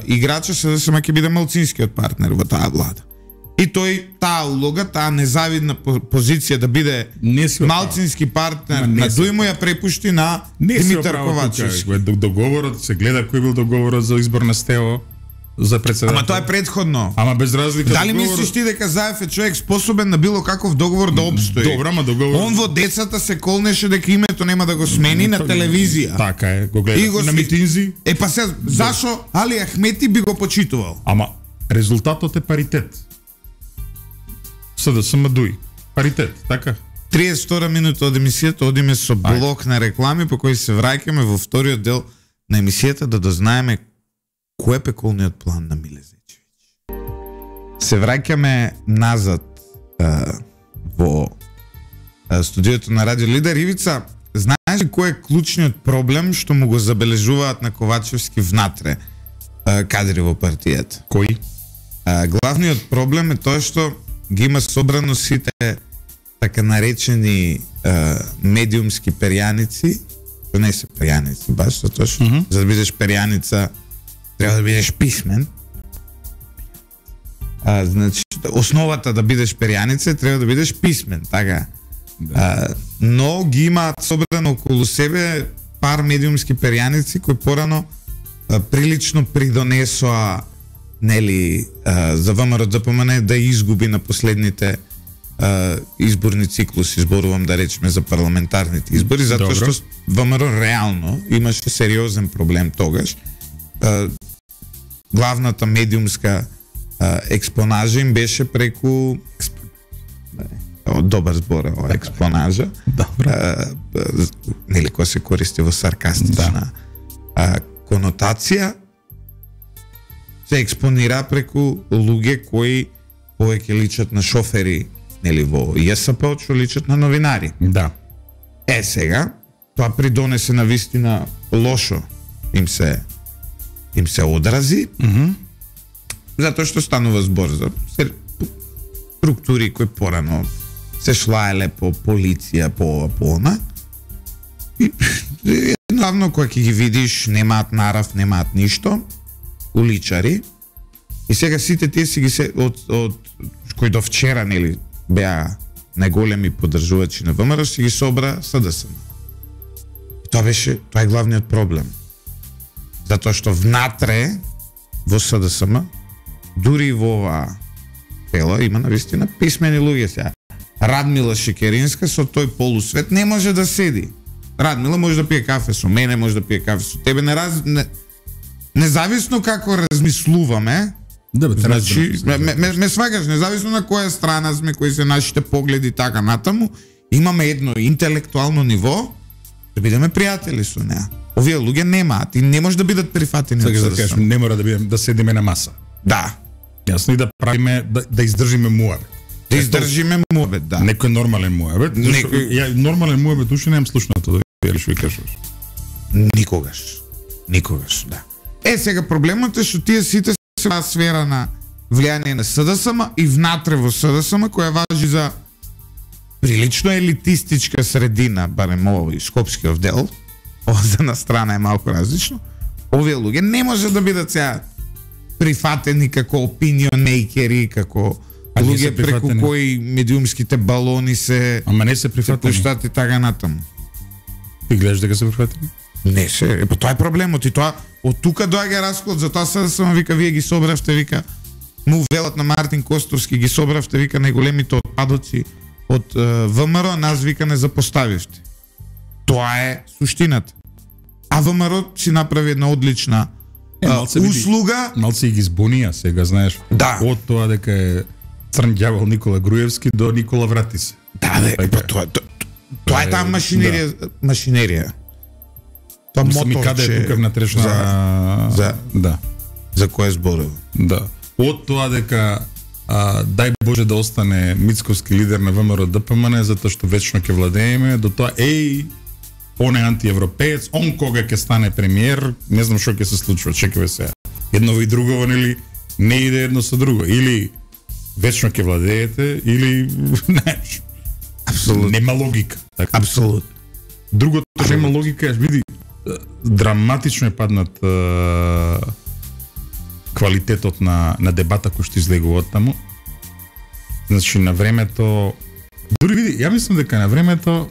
[SPEAKER 1] играч, СДСМ ќе биде малцинскиот партнер во таа влада. И тој таа улога, таа незавидна позиција да биде малцински партнер на Дуи му ја препушти на Димитар Ковачевски.
[SPEAKER 2] Договорот се гледа кој бил договорот за избор на Стево за председател.
[SPEAKER 1] Ама тоа е претходно.
[SPEAKER 2] Ама без разлика.
[SPEAKER 1] Дали мислиш ти дека Заев е човек способен на било каков договор да обстои?
[SPEAKER 2] Добро, ама договор.
[SPEAKER 1] Он во децата се колнеше дека името нема да го смени на телевизија.
[SPEAKER 2] Така е, го гледа на митинзи.
[SPEAKER 1] Е па се, зашо Али Ахмети би го почитувал?
[SPEAKER 2] Ама резултатот е паритет. СДСМ Дуи. Паритет, така?
[SPEAKER 1] 32 минута од емисијата одиме со блок на реклами по кој се враќаме во вториот дел на емисијата да дознаеме кој е пеколниот план на Милезечевиќ. Се враќаме назад во студиото на Радио Лидер. Ивица, знаеш ли кој е клучниот проблем што му го забележуваат на Ковачевски внатре кадри во партијата?
[SPEAKER 2] Кој?
[SPEAKER 1] Главниот проблем е тоа што ги има собрано сите така наречени медиумски перјаници, што не се перјаници, баш, затоа што за да бидеш перјаница треба да бидеш писмен. Значи, основата да бидеш перјаница треба да бидеш писмен, така. Но ги имаат собрано околу себе пар медиумски перјаници кои порано прилично придонесоа нели за ВМРО ДПМН да изгуби на последните изборни циклуси, зборувам да речеме за парламентарните избори, затоа што ВМРО реално имаше сериозен проблем тогаш. Главната медиумска експонажа им беше преку добар збор, експонажа. Нели која се користи во саркастична конотација, се експонира преку луѓе кои повеќе личат на шофери, нели во ЈСП, што личат на новинари.
[SPEAKER 2] Да.
[SPEAKER 1] Сега тоа придонесе на вистина лошо им се одрази, затоа што станува збор за структури кои порано се шлаеле по полиција, по она. И едноставно кога ќе ги видиш, немаат нарав, немаат ништо, уличари. И сега сите тие си ги се од кои до вчера нели беа најголеми поддржувачи на ВМРО, си ги собра СДСМ. Тоа е главниот проблем. Затоа што внатре во СДСМ, дури во оваа тела има навистина писмени луѓе сега. Радмила Шекеринска со тој полусвет не може да седи. Радмила може да пие кафе со мене, може да пие кафе со тебе, независно како размислуваме. Значи, ме свагаш, независно на која страна сме, кои се нашите погледи така натаму, имаме едно интелектуално ниво да бидеме пријатели со неа. Овие луѓе немаат и не може да бидат прифатени.
[SPEAKER 2] Така да кажеш, не мора да седиме на маса.
[SPEAKER 1] Да.
[SPEAKER 2] Јасно, и да правиме, да издржиме муабет.
[SPEAKER 1] Да издржиме муабет, да.
[SPEAKER 2] Некој нормален муабет. Ја нормален муабет уште немам слушнато, да видиш што кажеш.
[SPEAKER 1] Никогаш, да. Сега проблемот е што тие сите се во сфера на влијание на СДСМ и внатре во СДСМ, која важи за прилично елитистичка средина, барем овој скопскиот дел, овде на страна е малку различно, овие луѓе не може да бидат сега прифатени како opinion makeri, како луѓе преку кои медиумските балони се
[SPEAKER 2] Ама не се прифатени.
[SPEAKER 1] Се пуштат и така натаму.
[SPEAKER 2] Ти гледаш дека се прифатени?
[SPEAKER 1] Не се, тоа е проблемот и тоа од тука доаѓа расклад, затоа се само вика вие ги собравте, вика му велат на Мартин Костовски, ги собравте, вика најголемите отпадоци од ВМРО, нас вика не запоставивте. Тоа е суштината. А ВМРО си направи една одлична услуга.
[SPEAKER 2] Малце и ги збунија сега, знаеш.
[SPEAKER 1] Да.
[SPEAKER 2] Од тоа дека е црн ѓавол Никола Груевски до Никола Вратис.
[SPEAKER 1] Да, тоа е таа машинерија. Тоа
[SPEAKER 2] ми каде е тука внатрешна
[SPEAKER 1] за која зборува.
[SPEAKER 2] Да. Од тоа дека дај Боже да остане Мицковски лидер на ВМРО ДПМН затоа што вечно ќе владееме, до тоа он е антиевропеец, он кога ќе стане премиер, не знам што ќе се случува, чекаме се. Едново и другово, нели, не иде едно со друго. Или вечно ќе владеете, или знаеш.
[SPEAKER 1] Апсолутно.
[SPEAKER 2] Нема логика.
[SPEAKER 1] Така. Апсолутно.
[SPEAKER 2] Другото нема логика, види, драматично е паднат квалитетот на дебата кој што излегува од таму. Значи на времето, дури види, ја мислам дека на времето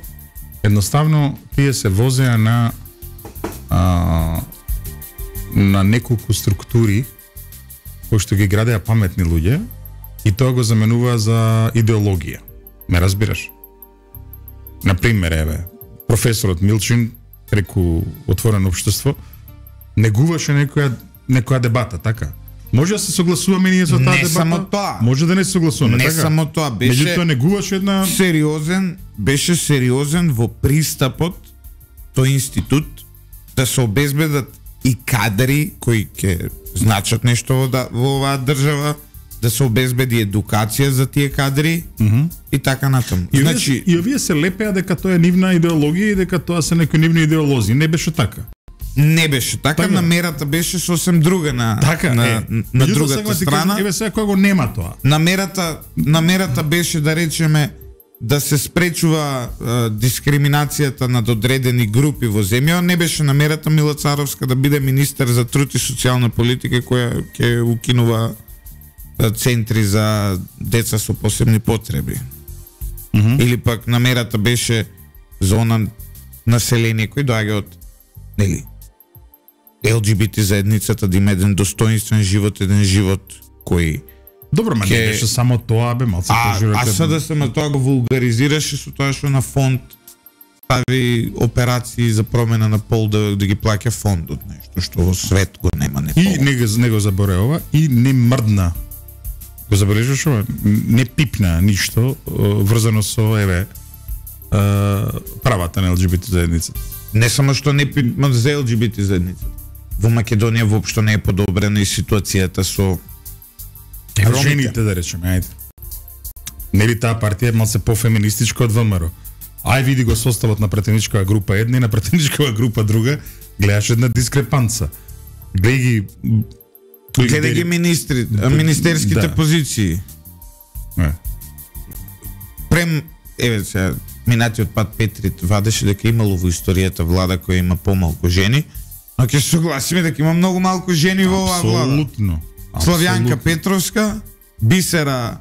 [SPEAKER 2] едноставно тие се возеа на неколку структури кои што ги градеа паметни луѓе и тоа го заменува за идеологија. Ме разбираш? Например, еве, професорот Милчин преку Отворено општество негуваше некоја дебата, така? Може да се согласуваме ние со таа дебата?
[SPEAKER 1] Не само тоа.
[SPEAKER 2] Може да не се согласуваме,
[SPEAKER 1] не
[SPEAKER 2] така?
[SPEAKER 1] Не само тоа,
[SPEAKER 2] меѓутоа негуваше една
[SPEAKER 1] беше сериозен во пристапот тој институт да се обезбедат и кадри кои ќе значат нешто во оваа држава, да се обезбеди едукација за тие кадри и така натаму.
[SPEAKER 2] Значи и овие се лепеа дека тоа е нивна идеологија и дека тоа се некои нивни идеолози. Не беше така.
[SPEAKER 1] Не беше така, намерата беше сосем друга на другата страна.
[SPEAKER 2] Еве сега кога го нема тоа.
[SPEAKER 1] Намерата беше да речеме да се спречува дискриминацијата над одредени групи во земја. Не беше намерата Мила Царовска да биде министер за труд и социјална политика која ќе укинува центри за деца со посебни потреби. Или пак намерата беше за она население кој доаѓа од ЛГБТ заедницата да има еден достоинствен живот, еден живот кој
[SPEAKER 2] добро, ма не беше само тоа, бе, малце
[SPEAKER 1] поживете. А СДСМ тоа го вулгаризираше со тоа што на фонд стави операции за промена на пол да ги плаќа фондот, нешто што во свет го нема не.
[SPEAKER 2] И не го заборава и не мрдна. Го забележуваш ова? Не пипна ништо врзано со правата на ЛГБТ заедницата.
[SPEAKER 1] Не само што не пипна за ЛГБТ заедницата. Во Македонија воопшто не е подобрена и ситуацијата со
[SPEAKER 2] жените, да речеме, ајде. Нели таа партија е малце пофеминистичка од ВМРО. Ај види го составот на пратеничкава група една и на пратеничкава група друга, гледаш една дискрепанца. Гледај
[SPEAKER 1] ги министерските позиции. Прем, сега, минатиот пат Петрит вадеше дека имало во историјата влада која има помалку жени, но ќе се согласиме дека има многу малку жени во оваа влада.
[SPEAKER 2] Апсолутно.
[SPEAKER 1] Славјанка Петровска, Бисера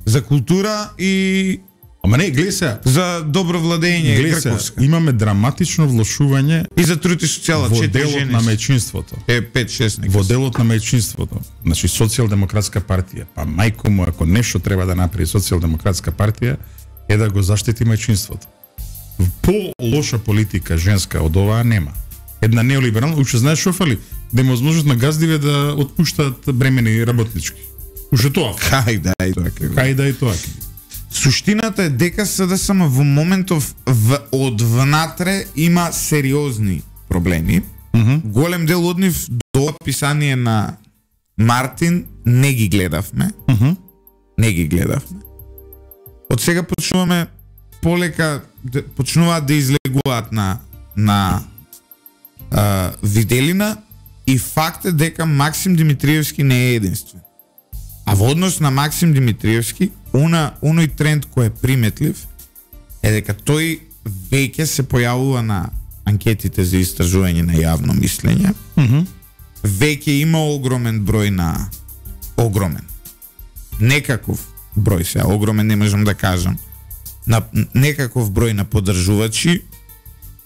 [SPEAKER 1] за култура и
[SPEAKER 2] ама не, гледај се,
[SPEAKER 1] за добро владење Грковска.
[SPEAKER 2] Имаме драматично влошување
[SPEAKER 1] и за труд и социјала,
[SPEAKER 2] во делот на мајчинството.
[SPEAKER 1] 5-6
[SPEAKER 2] во делот на мајчинството. Значи Социјалдемократска партија, па мајко му ако нешто треба да направи Социјалдемократска партија е да го заштити мајчинството. По лоша политика женска од оваа нема. Една неолиберална, уште знаеш што фали? Да има возможност на газдиве да отпуштаат бремени работнички. Уште тоа.
[SPEAKER 1] Кај да
[SPEAKER 2] и тоа.
[SPEAKER 1] Суштината е дека СДСМ во моментов од внатре има сериозни проблеми. Голем дел од нив до описание на Мартин не ги гледавме. Не ги гледавме. Од сега почнуваме полека почнуваат да излегуваат на виделина и факт е дека Максим Димитриевски не е единствен. А во однос на Максим Димитриевски, оној тренд кој е приметлив е дека тој веќе се појавува на анкетите за истражување на јавно мислење веќе има огромен број на некаков број, сега огромен не можам да кажам, на некаков број на поддржувачи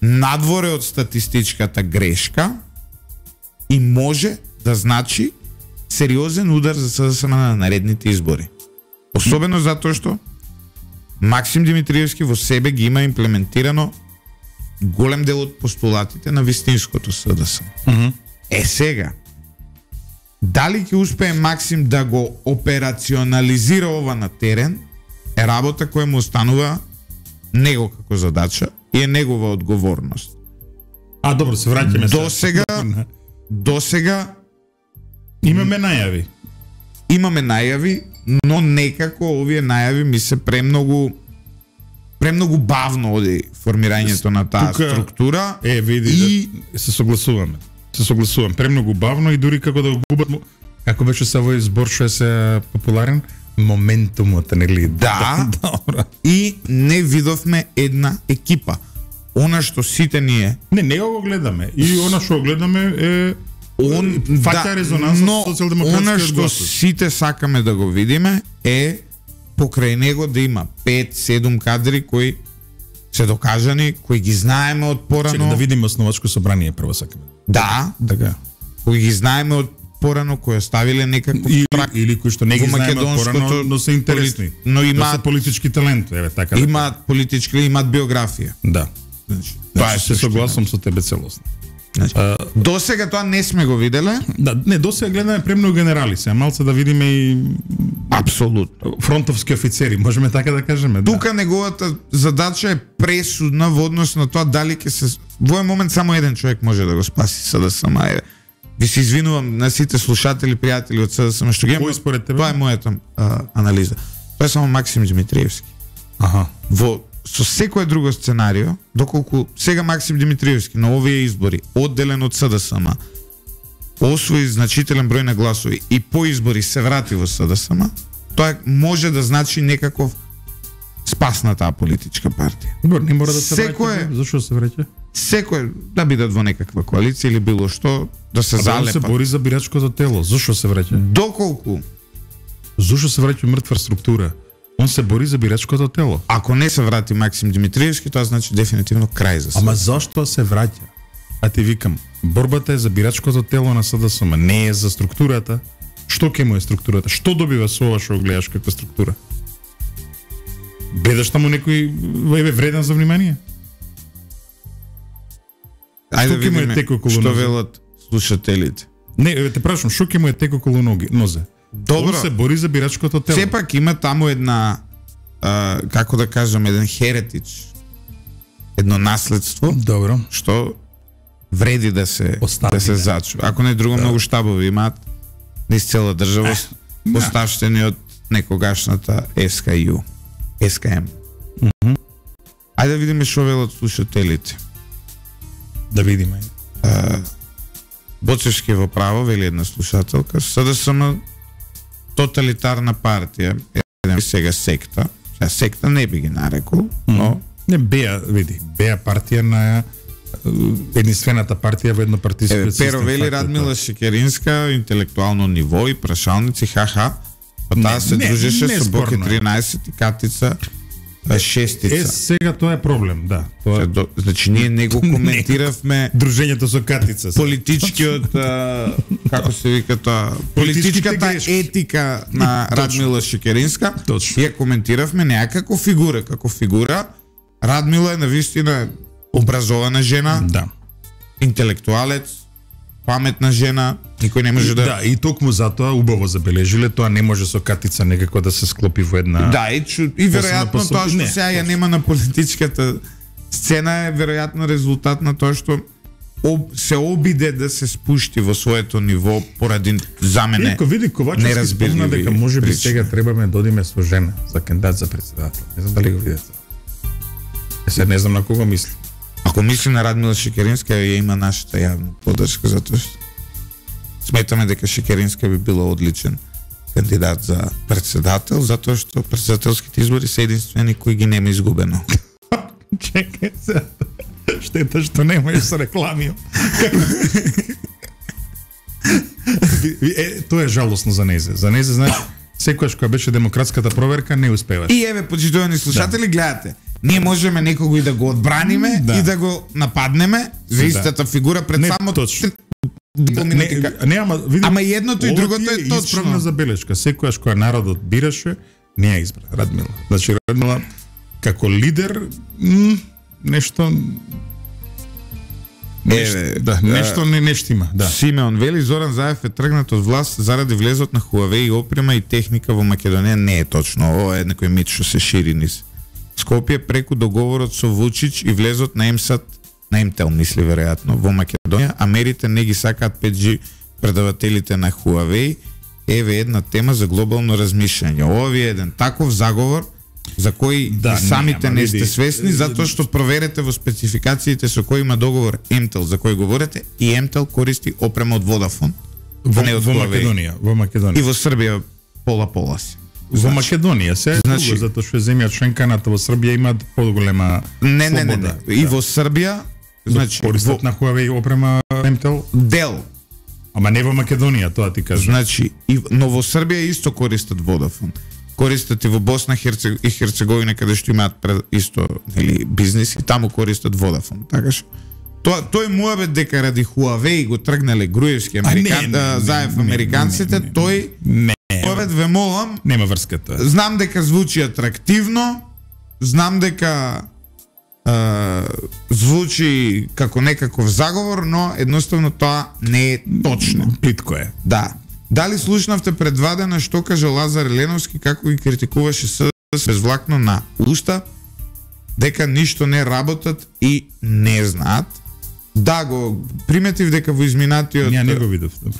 [SPEAKER 1] надворе од статистичката грешка и може да значи сериозен удар за СДСМ на наредните избори. Особено затоа што Максим Димитриевски во себе ги има имплементирано голем дел од постулатите на вистинското СДСМ. Сега, дали ќе успее Максим да го операционализира ова на терен, е работа која му останува него како задача и е негова одговорност.
[SPEAKER 2] Добро, се враќаме
[SPEAKER 1] До сега
[SPEAKER 2] имаме најави.
[SPEAKER 1] Но некако овие најави ми се премногу бавно оди формирањето на таа структура.
[SPEAKER 2] Види, се согласувам, премногу бавно и дури како да го губат, како беше се овој збор што е се популарен, моментумот, нели?
[SPEAKER 1] Да. И не видовме една екипа. Она што сите ние
[SPEAKER 2] не го гледаме. И она што го гледаме е фаќа резонанс со социјалдемократскиот
[SPEAKER 1] она што сите сакаме да го видиме е покрај него да има 5-7 кадри кои се докажани, кои ги знаеме од порано.
[SPEAKER 2] Чека да видиме основачко собрание прво сакаме.
[SPEAKER 1] Да, така. Кои ги знаеме од порано, кои оставиле некаков трак
[SPEAKER 2] или кои што не ги знаеме од порано, но се интересни.
[SPEAKER 1] Но имаат
[SPEAKER 2] се политички талент, така.
[SPEAKER 1] Имаат политички, имаат биографија.
[SPEAKER 2] Да. Тоа се согласувам со тебе целосно.
[SPEAKER 1] До сега тоа не сме го виделе.
[SPEAKER 2] Да, не, до сега гледаме премногу генерали, сега малце да видиме и
[SPEAKER 1] апсолутно
[SPEAKER 2] фронтовски офицери, можеме така да кажеме.
[SPEAKER 1] Тука неговата задача е пресудна во однос на тоа дали ќе се во овој момент само еден човек може да го спаси СДСМ. Ви се извинувам на сите слушатели, пријатели од СДСМ што ги има. Тоа е мојата анализа. Тоа е само Максим Димитриевски. Со секое друго сценарио, доколку сега Максим Димитриевски на овие избори одделен од СДСМ освои значителен број на гласови и по избори се врати во СДСМ, тоа може да значи некаков спас на таа политичка партија.
[SPEAKER 2] Не мора да се враќа. Зашо се враќа?
[SPEAKER 1] Секој да бидат во некаква коалиција или било што, да се залепат.
[SPEAKER 2] Да се бори за бирачкото тело. Зашо се враќа?
[SPEAKER 1] Доколку?
[SPEAKER 2] Зашо се враќа мртва структура? Он се бори за бирачкото тело.
[SPEAKER 1] Ако не се врати Максим Димитриевски, тоа значи дефинитивно крај за СДСМ.
[SPEAKER 2] Ама зашто се враќа? Ти викам, борбата е за бирачкото тело на СДСМ, не е за структурата. Што ќе му е структурата? Што добива со ова што гледаш каква структура? Бедаш таму некој вреден за внимание?
[SPEAKER 1] Ајде да видиме што велат слушателите.
[SPEAKER 2] Не, те прашам, што ќе му е тек околу нозе?
[SPEAKER 1] Добро.
[SPEAKER 2] Он се бори за бирачкото тело.
[SPEAKER 1] Сепак има таму една, како да кажам, еден херетич, едно наследство.
[SPEAKER 2] Добро.
[SPEAKER 1] Што вреди да се зачува. Ако не друго, многу штабови имаат низ цела држава, оставштени од некогашната СКМ. Ајде да видиме што велат слушателите.
[SPEAKER 2] Да видиме.
[SPEAKER 1] Боцевски во право, вели една слушателка, СДСМ тоталитарна партија, сега секта. Секта не би ги нарекол, но
[SPEAKER 2] не беа партија на единствената партија во еднопартијски систем.
[SPEAKER 1] Перо вели Радмила Шекеринска, интелектуално ниво и прашалници, ха-ха, па таа се дружеше со Боке 13 и Катица шестица.
[SPEAKER 2] Сега тоа е проблем, да.
[SPEAKER 1] Значи ние не го коментиравме
[SPEAKER 2] дружењето со Катица.
[SPEAKER 1] Политичкиот како се вика тоа, политичката етика на Радмила Шекеринска. Ја коментиравме некако фигура, како фигура. Радмила е навистина образована жена.
[SPEAKER 2] Да.
[SPEAKER 1] Интелектуалец, паметна жена, никој не може да...
[SPEAKER 2] Да, и токму затоа убаво забележиле, тоа не може со Катица некако да се склопи во една...
[SPEAKER 1] Да, и веројатно тоа што сега ја нема на политичката сцена е веројатно резултат на тоа што се обиде да се спушти во своето ниво поради за мене
[SPEAKER 2] неразбирливи спомна дека можеби сега требаме да одиме со жена за кандидат за председател. Не знам дали го видите. Сега не знам на кого мисли.
[SPEAKER 1] Ако мисли на Радмила Шекеринска, ја има нашата јавна поддршка, затоа што сметаме дека Шекеринска би била одличен кандидат за председател, затоа што председателските избори се единствени кои ги нема изгубено.
[SPEAKER 2] Чекај се. Штета што немаш со реклами. тоа е жалосно за незе. За незе, значи, секогаш кога беше демократската проверка, не успеваш.
[SPEAKER 1] И еве, почитувани слушатели, гледате. Ние можеме некого и да го одбраниме и да го нападнеме за истата фигура пред само
[SPEAKER 2] точно. Ама
[SPEAKER 1] и едното и другото е точно.
[SPEAKER 2] Исправна забелешка. Секогаш кога народот бираше, не ја избра Радмила. Значи Радмила како лидер нешто не штима, да.
[SPEAKER 1] Симеон вели Зоран Заев е тргнат од власт заради влезот на Huawei опрема и техника во Македонија. Не е точно, ова е некој мит што се шири низ Скопје преку договорот со Вучич и влезот на МСАТ, на Intel мисли веројатно во Македонија, а мерите не ги сакаат 5G предавателите на Huawei. Еве една тема за глобално размишљање. Ова е еден таков заговор за кој самите не сте свесни, затоа што проверете во спецификациите со кој има договор Intel за кој говорите, и Intel користи опрема од Vodafone,
[SPEAKER 2] во Македонија,
[SPEAKER 1] и во Србија пола си.
[SPEAKER 2] Во Македонија се друго, затоа што земја членканата во Србија имаат поголема слобода.
[SPEAKER 1] И во Србија, значи
[SPEAKER 2] користат на Huawei опрема Intel
[SPEAKER 1] дел.
[SPEAKER 2] Ама не во Македонија, тоа ти кажам.
[SPEAKER 1] Значи, но во Србија исто користат Vodafone. Користат и во Босна и Херцеговина, каде што имаат исто бизнес, и таму користат Vodafone. Така што тој муабет дека ради Huawei го тргнале Груевски Заев американците, тој муабет ве молам.
[SPEAKER 2] Нема врска тоа.
[SPEAKER 1] Знам дека звучи атрактивно, знам дека звучи како некаков заговор, но едноставно тоа не е точно.
[SPEAKER 2] Плитко е.
[SPEAKER 1] Да. Дали слушнавте пред 2 дена што каже Лазар Еленовски како ги критикуваше СДС безвлакно на уста, дека ништо не работат и не знаат? Да, го приметив дека во изминатиот...
[SPEAKER 2] Ја не го видов, добро.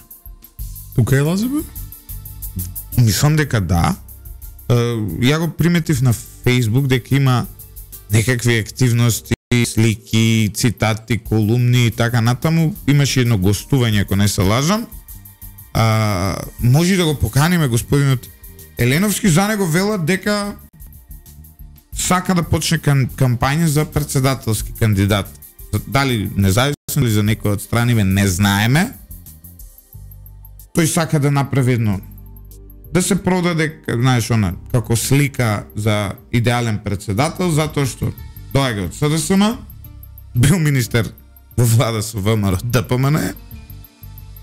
[SPEAKER 2] Тука е Лазар?
[SPEAKER 1] Мислам дека да. Ја го приметив на Facebook дека има некакви активности, слики, цитати, колумни и така натаму. Имаше едно гостување, ако не се лажам. Може да го поканиме господинот Еленовски, за него велат дека сака да почне кампања за председателски кандидат. Дали независно или за некој од страни, не знаеме. Тој сака да направи едно, да се продаде, знаеш, она, како слика за идеален председател, затоа што доаѓа од СДСМ, бил министер во влада со ВМРО ДПМН,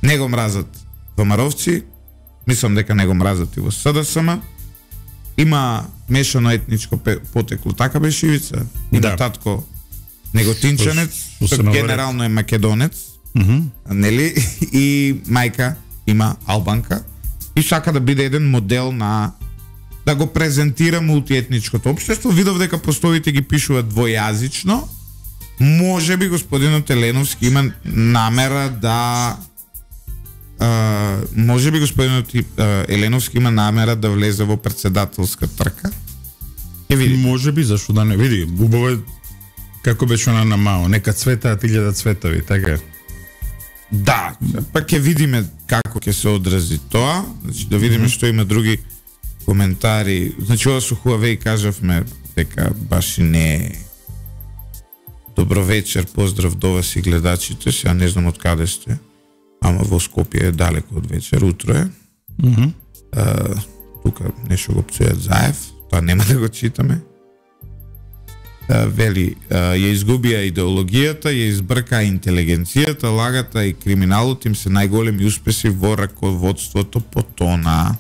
[SPEAKER 1] не го мразат ВМРО-вци, мислам дека не го мразат и во СДСМ, има мешано етничко потекло, така беше Ивица, и да. Татко неготинчанец, генерално е македонец, нели, и мајка има албанка, и сака да биде еден модел на да го презентира мултиетничкото општество. Видов дека постовите ги пишуваат двојазично. Може би господинот Еленовски има намера да да влезе во председателска трка.
[SPEAKER 2] Види. Може би, зашто да не види. Убаво е како беше она на Мао, нека цветаат 1000 цветови, така е.
[SPEAKER 1] Да, па ќе видиме како ќе се одрази тоа, значи да видиме што има други коментари. Значи ова со Huawei кажавме дека баш и не е. Добро вечер, поздрав до вас и гледачите, сега не знам од каде сте, ама во Скопје е далеко од вечер, утро е. Тука нешто го пцујат Заев, тоа нема да го читаме. Вели, ја изгубија идеологијата, ја избрка интелигенцијата, лагата и криминалот им се најголеми успеси во раководството по тона.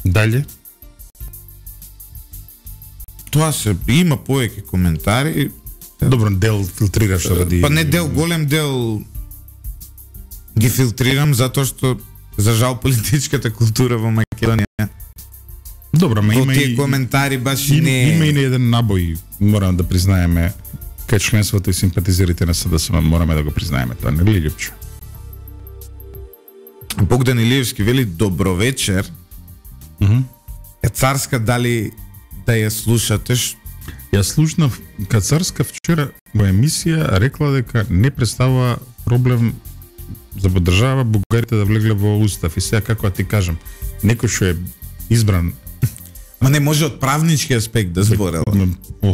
[SPEAKER 2] Дале?
[SPEAKER 1] Тоа се, има повеќе коментари.
[SPEAKER 2] Добро, дел филтрираш ради...
[SPEAKER 1] Па не дел, голем дел ги филтрирам затоа што за жал политичката култура во Македонија.
[SPEAKER 2] Добро, ма има
[SPEAKER 1] и коментари баш и не.
[SPEAKER 2] Има и еден набој, морам да признаеме, кај членството и симпатизерите на СДСМ, мораме да го признаеме тоа, не ли Љупчо?
[SPEAKER 1] Богдан Илиевски вели добро вечер. Е Царска, дали да ја слушате?
[SPEAKER 2] Ја слушнав Кацарска вчера во емисија, рекла дека не представува проблем за држава бугарите да влегле во устав. И сега како ти кажам, некој што е избран
[SPEAKER 1] Ма не може од правнички аспект да зборела.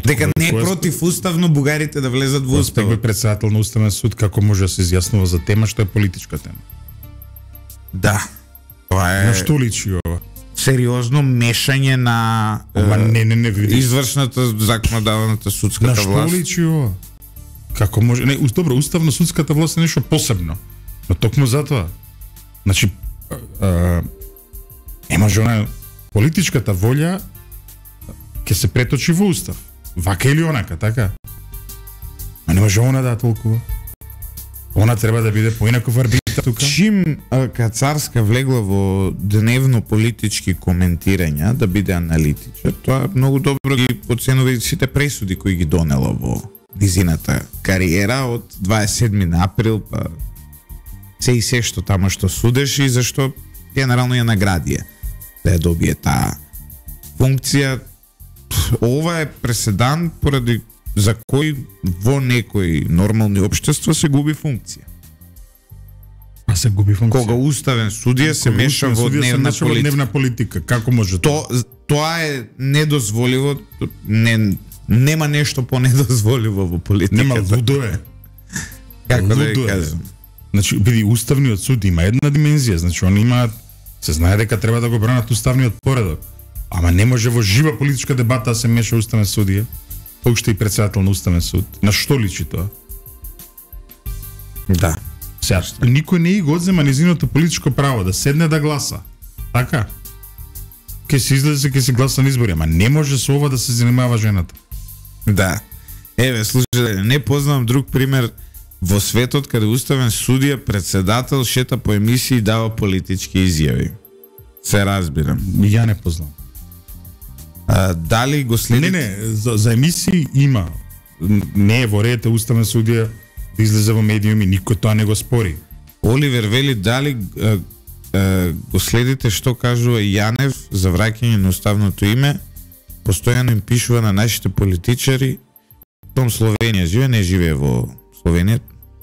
[SPEAKER 1] Дека не е противуставно бугарите да влезат во уставот.
[SPEAKER 2] Тој председател на Уставен суд како може да се изјаснува за тема што е политичка тема?
[SPEAKER 1] Да. Тоа е
[SPEAKER 2] На што личи ова?
[SPEAKER 1] сериозно мешање на
[SPEAKER 2] не види.
[SPEAKER 1] извршната законодавната судската
[SPEAKER 2] На што
[SPEAKER 1] власт.
[SPEAKER 2] личи ова? Како може? Не, добро, уставно судската власт е нешто посебно. Но токму затоа. Значи не може она политичката волја ќе се преточи во устав. Вака или онака, така? А не може она да толкува. Она треба да биде поинаков арбитар тука.
[SPEAKER 1] Чим Кацарска влегла во дневно политички коментирања да биде аналитичар, тоа многу добро ги оценува и сите пресуди кои ги донела во низината кариера од 27 април па се што тамо што судеше и зашто генерално ја наградија да ја добие таа функција. Ова е преседан поради за кој во некои нормални општества се губи функција.
[SPEAKER 2] А се губи функција.
[SPEAKER 1] Кога уставен судија се меша во дневна политика.
[SPEAKER 2] Како може
[SPEAKER 1] Тоа е недозволиво, нема нешто понедозволиво во политиката.
[SPEAKER 2] Нема, лудо е.
[SPEAKER 1] Како да ја кажам?
[SPEAKER 2] Значи, биди уставниот суд има една димензија, значи они имаат, се знае дека треба да го бранат уставниот поредок. Ама не може во жива политичка дебата да се меша уставен судија, па уште и председател на уставен суд. На што личи тоа?
[SPEAKER 1] Да.
[SPEAKER 2] Сега, никој не го одзема низиното политичко право да седне да гласа. Така? Ке се излезе, ке се гласа на избори, ама не може со ова да се занимава жената.
[SPEAKER 1] Да. Еве, слушајте, не познавам друг пример во светот каде уставен судија, председател шета по емисии и дава политички изјави. Се разбирам.
[SPEAKER 2] Ја не познавам.
[SPEAKER 1] Дали го следите?
[SPEAKER 2] Не, за емисии има. Не е во ред уставен судија да излезе во медиуми, никој тоа не го спори.
[SPEAKER 1] Оливер вели дали го следите што кажува Јанев за враќање на уставното име, постојано им пишува на нашите политичари, том Словенија живее, не живее во Словенија,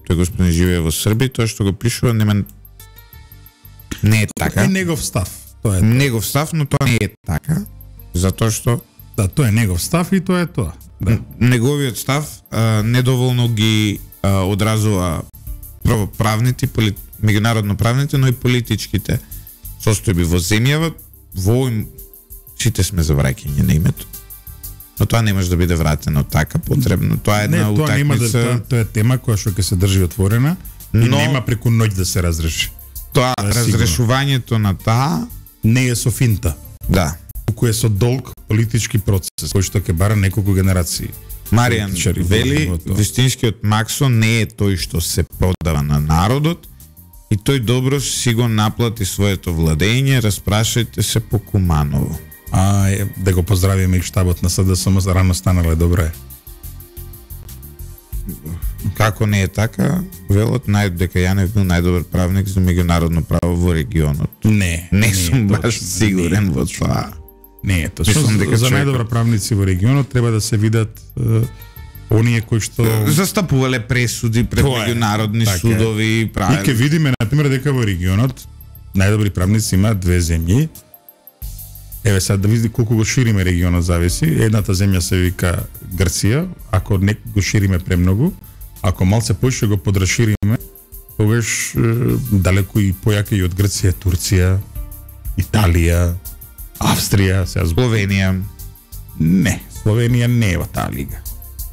[SPEAKER 1] тој господин живее во Србија, тоа што го пишува не е така.
[SPEAKER 2] Е негов став. Тоа е
[SPEAKER 1] негов став, но тоа не е така, затоа што
[SPEAKER 2] да, тоа е негов став и тоа е тоа. Да.
[SPEAKER 1] Неговиот став недоволно ги одразува правните, меѓународно правните, но и политичките состојби во земјава, во сите сме за враќање на името. Но тоа не може да биде вратено така, потребно. Тоа е една утакмица.
[SPEAKER 2] Тоа е тема која што ќе се држи отворена, но нема преку ноќ да се разреши.
[SPEAKER 1] Тоа разрешувањето на таа
[SPEAKER 2] не е со финта.
[SPEAKER 1] Да.
[SPEAKER 2] Туку е со долг политички процес кој што ќе бара неколку генерации.
[SPEAKER 1] Маријан вели, вистинскиот Максо не е тој што се продава на народот и тој добро си го наплати своето владење, распрашајте се по Куманово.
[SPEAKER 2] Да го поздравиме и штабот на СДСМ, рано станале, добре.
[SPEAKER 1] Како не е така, велот дека Јанев бил најдобар правник за меѓународно право во регионот.
[SPEAKER 2] Не
[SPEAKER 1] сум баш сигурен во тоа.
[SPEAKER 2] Не е тоа. За најдобра правници во регионот треба да се видат оние кои што
[SPEAKER 1] застапувале пресуди пред меѓународни судови,
[SPEAKER 2] И ќе видиме на пример дека во регионот најдобри правници има две земји. Еве сега да види колку го шириме регионот зависи. Едната земја се вика Грција, ако не го шириме премногу, ако малце поише го подрашириме, тогаш далеку и појака и од Грција, Турција, Италија, Австрија, сега
[SPEAKER 1] Словенија.
[SPEAKER 2] Не, Словенија не е во таа лига.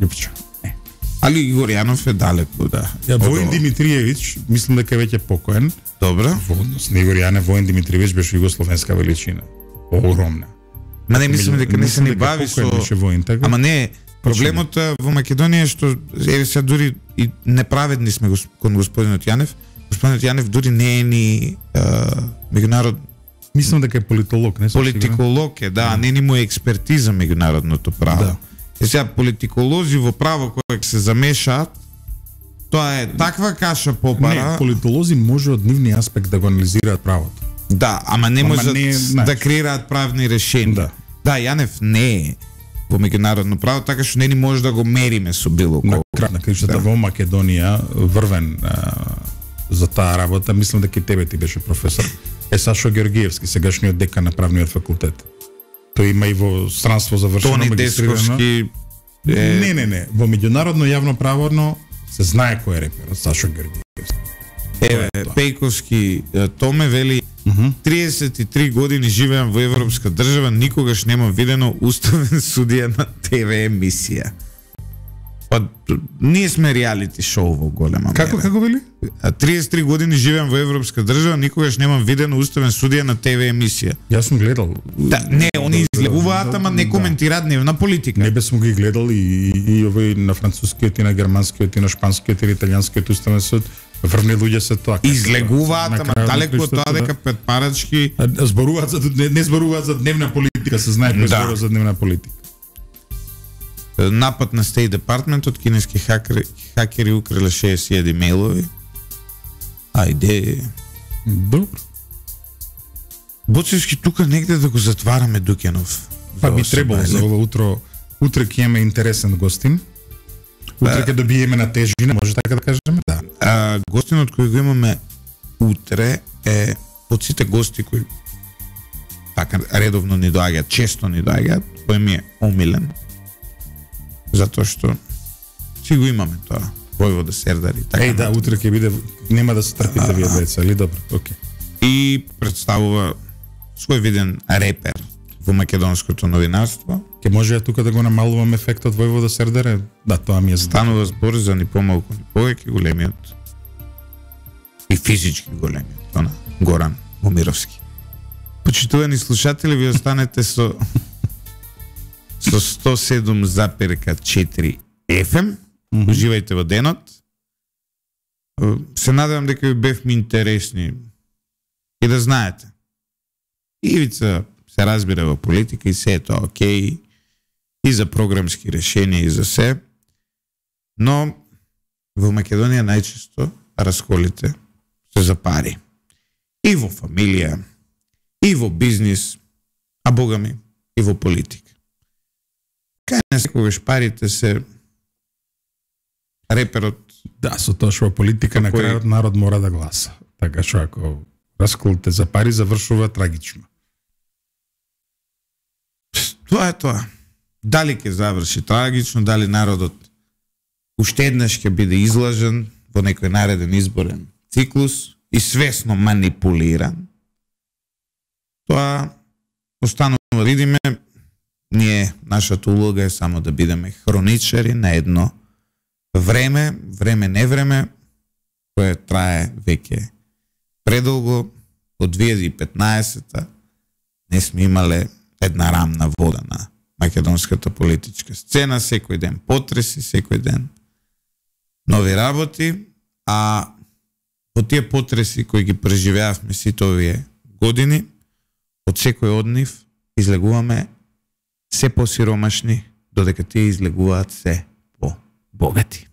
[SPEAKER 2] Љупчо, не.
[SPEAKER 1] Али Игор Јанов е далеку, да.
[SPEAKER 2] Воин Димитриевиќ, мислам дека веќе покоен.
[SPEAKER 1] Добро.
[SPEAKER 2] Во однос на Игор Јанев, Воин Димитриевиќ беше југословенска величина. Огромна.
[SPEAKER 1] Ма не мислам дека не се ни бави со
[SPEAKER 2] воин, така?
[SPEAKER 1] Ама не, проблемот во Македонија е што еве сега дури и неправедни сме кон господинот Јанев. Господинот Јанев дури не е ни меѓународ.
[SPEAKER 2] Мислам дека е политолог, не сум
[SPEAKER 1] политиколог е, да, не ни му е експертиза меѓународното право.
[SPEAKER 2] Да.
[SPEAKER 1] И сега политиколози во право кои се замешаат, тоа е таква каша попара.
[SPEAKER 2] Не, политолози може од нивни аспект да го анализираат правото.
[SPEAKER 1] Да, ама не можат да креираат правни решенија. Да, Јанев не е во меѓународно право, така што не ни може да го мериме со било колку.
[SPEAKER 2] На кришата во Македонија врвен за таа работа, мислам дека и тебе ти беше професор. Сашо Георгиевски, сегашниот декан на правниот факултет. Тој има и во странство завршено
[SPEAKER 1] Тони
[SPEAKER 2] магистрирано.
[SPEAKER 1] Десковски
[SPEAKER 2] Не. Во меѓународно јавно правно се знае кој е реперот Сашо Георгиевски.
[SPEAKER 1] Еве, Пејковски Томе вели 33 години живеам во европска држава, никогаш немам видено уставен судија на ТВ емисија. Па, ние сме реалити шоу во голема
[SPEAKER 2] Како вели?
[SPEAKER 1] 33 години живеам во европска држава, никогаш немам видено уставен судија на ТВ емисија.
[SPEAKER 2] Јас сум гледал.
[SPEAKER 1] Да, не, они излегуваат, ама не коментираат дневна политика.
[SPEAKER 2] Не бе сум ги гледал и овој на францускиот и на германскиот и на шпанскиот и италијанскиот уставен суд. Врвни луѓе се тоа.
[SPEAKER 1] Излегуваат, ама далеку од тоа дека претпарачки
[SPEAKER 2] зборуваат за не зборуваат за дневна политика, се знае кој зборува за дневна политика.
[SPEAKER 1] Напад на State Department од кинески хакери украле 60.000 мејлови. Ајде.
[SPEAKER 2] Добро.
[SPEAKER 1] Боцевски тука негде да го затвараме Дукенов.
[SPEAKER 2] Па би требало за ова утро. Утре ќе имаме интересен гостин. Утре ќе добиеме на тежина, може така да кажеме? Да.
[SPEAKER 1] Гостинот кој го имаме утре е од сите гости кои така редовно ни доаѓаат, често ни доаѓаат, кој ми е омилен. Затоа што си го имаме тоа. Војвода Сердари. Така
[SPEAKER 2] да, утре ќе биде, нема да се трпите вие двајца, или добро? Окей.
[SPEAKER 1] И представува свој виден репер во македонското новинарство.
[SPEAKER 2] Ке може тука да го намалувам ефектот Војвода Сердаре? Да, тоа ми е
[SPEAKER 1] станува збор за ни помалку ни повеќе големиот и физички големиот, она Горан Момировски. Почитувани слушатели, ви останете со 107,4 FM. Уживајте во денот. Се надевам дека ви бевме интересни и да знаете. Ивица се разбира во политика и се е тоа окей, и за програмски решенија и за се, но во Македонија најчесто расколите се за пари. И во фамилија, и во бизнис, а богами, и во политика. Кај не секогаш парите се реперот.
[SPEAKER 2] Да, со тоа што во политика на крајот народ мора да гласа. Така што ако расколите за пари завршува трагично.
[SPEAKER 1] Тоа е тоа. Дали ќе заврши трагично, дали народот уште еднаш ќе биде излажен во некој нареден изборен циклус и свесно манипулиран. Тоа останува да видиме. Ние, нашата улога е само да бидеме хроничари на едно време, не време, кое трае веќе предолго. Од 2015-та не сме имале една рамна вода на македонската политичка сцена, секој ден потреси, секој ден нови работи, а во тие потреси кои ги преживеавме сите овие години, од секој од нив излегуваме се посиромашни, додека тие излегуваат се по-богати.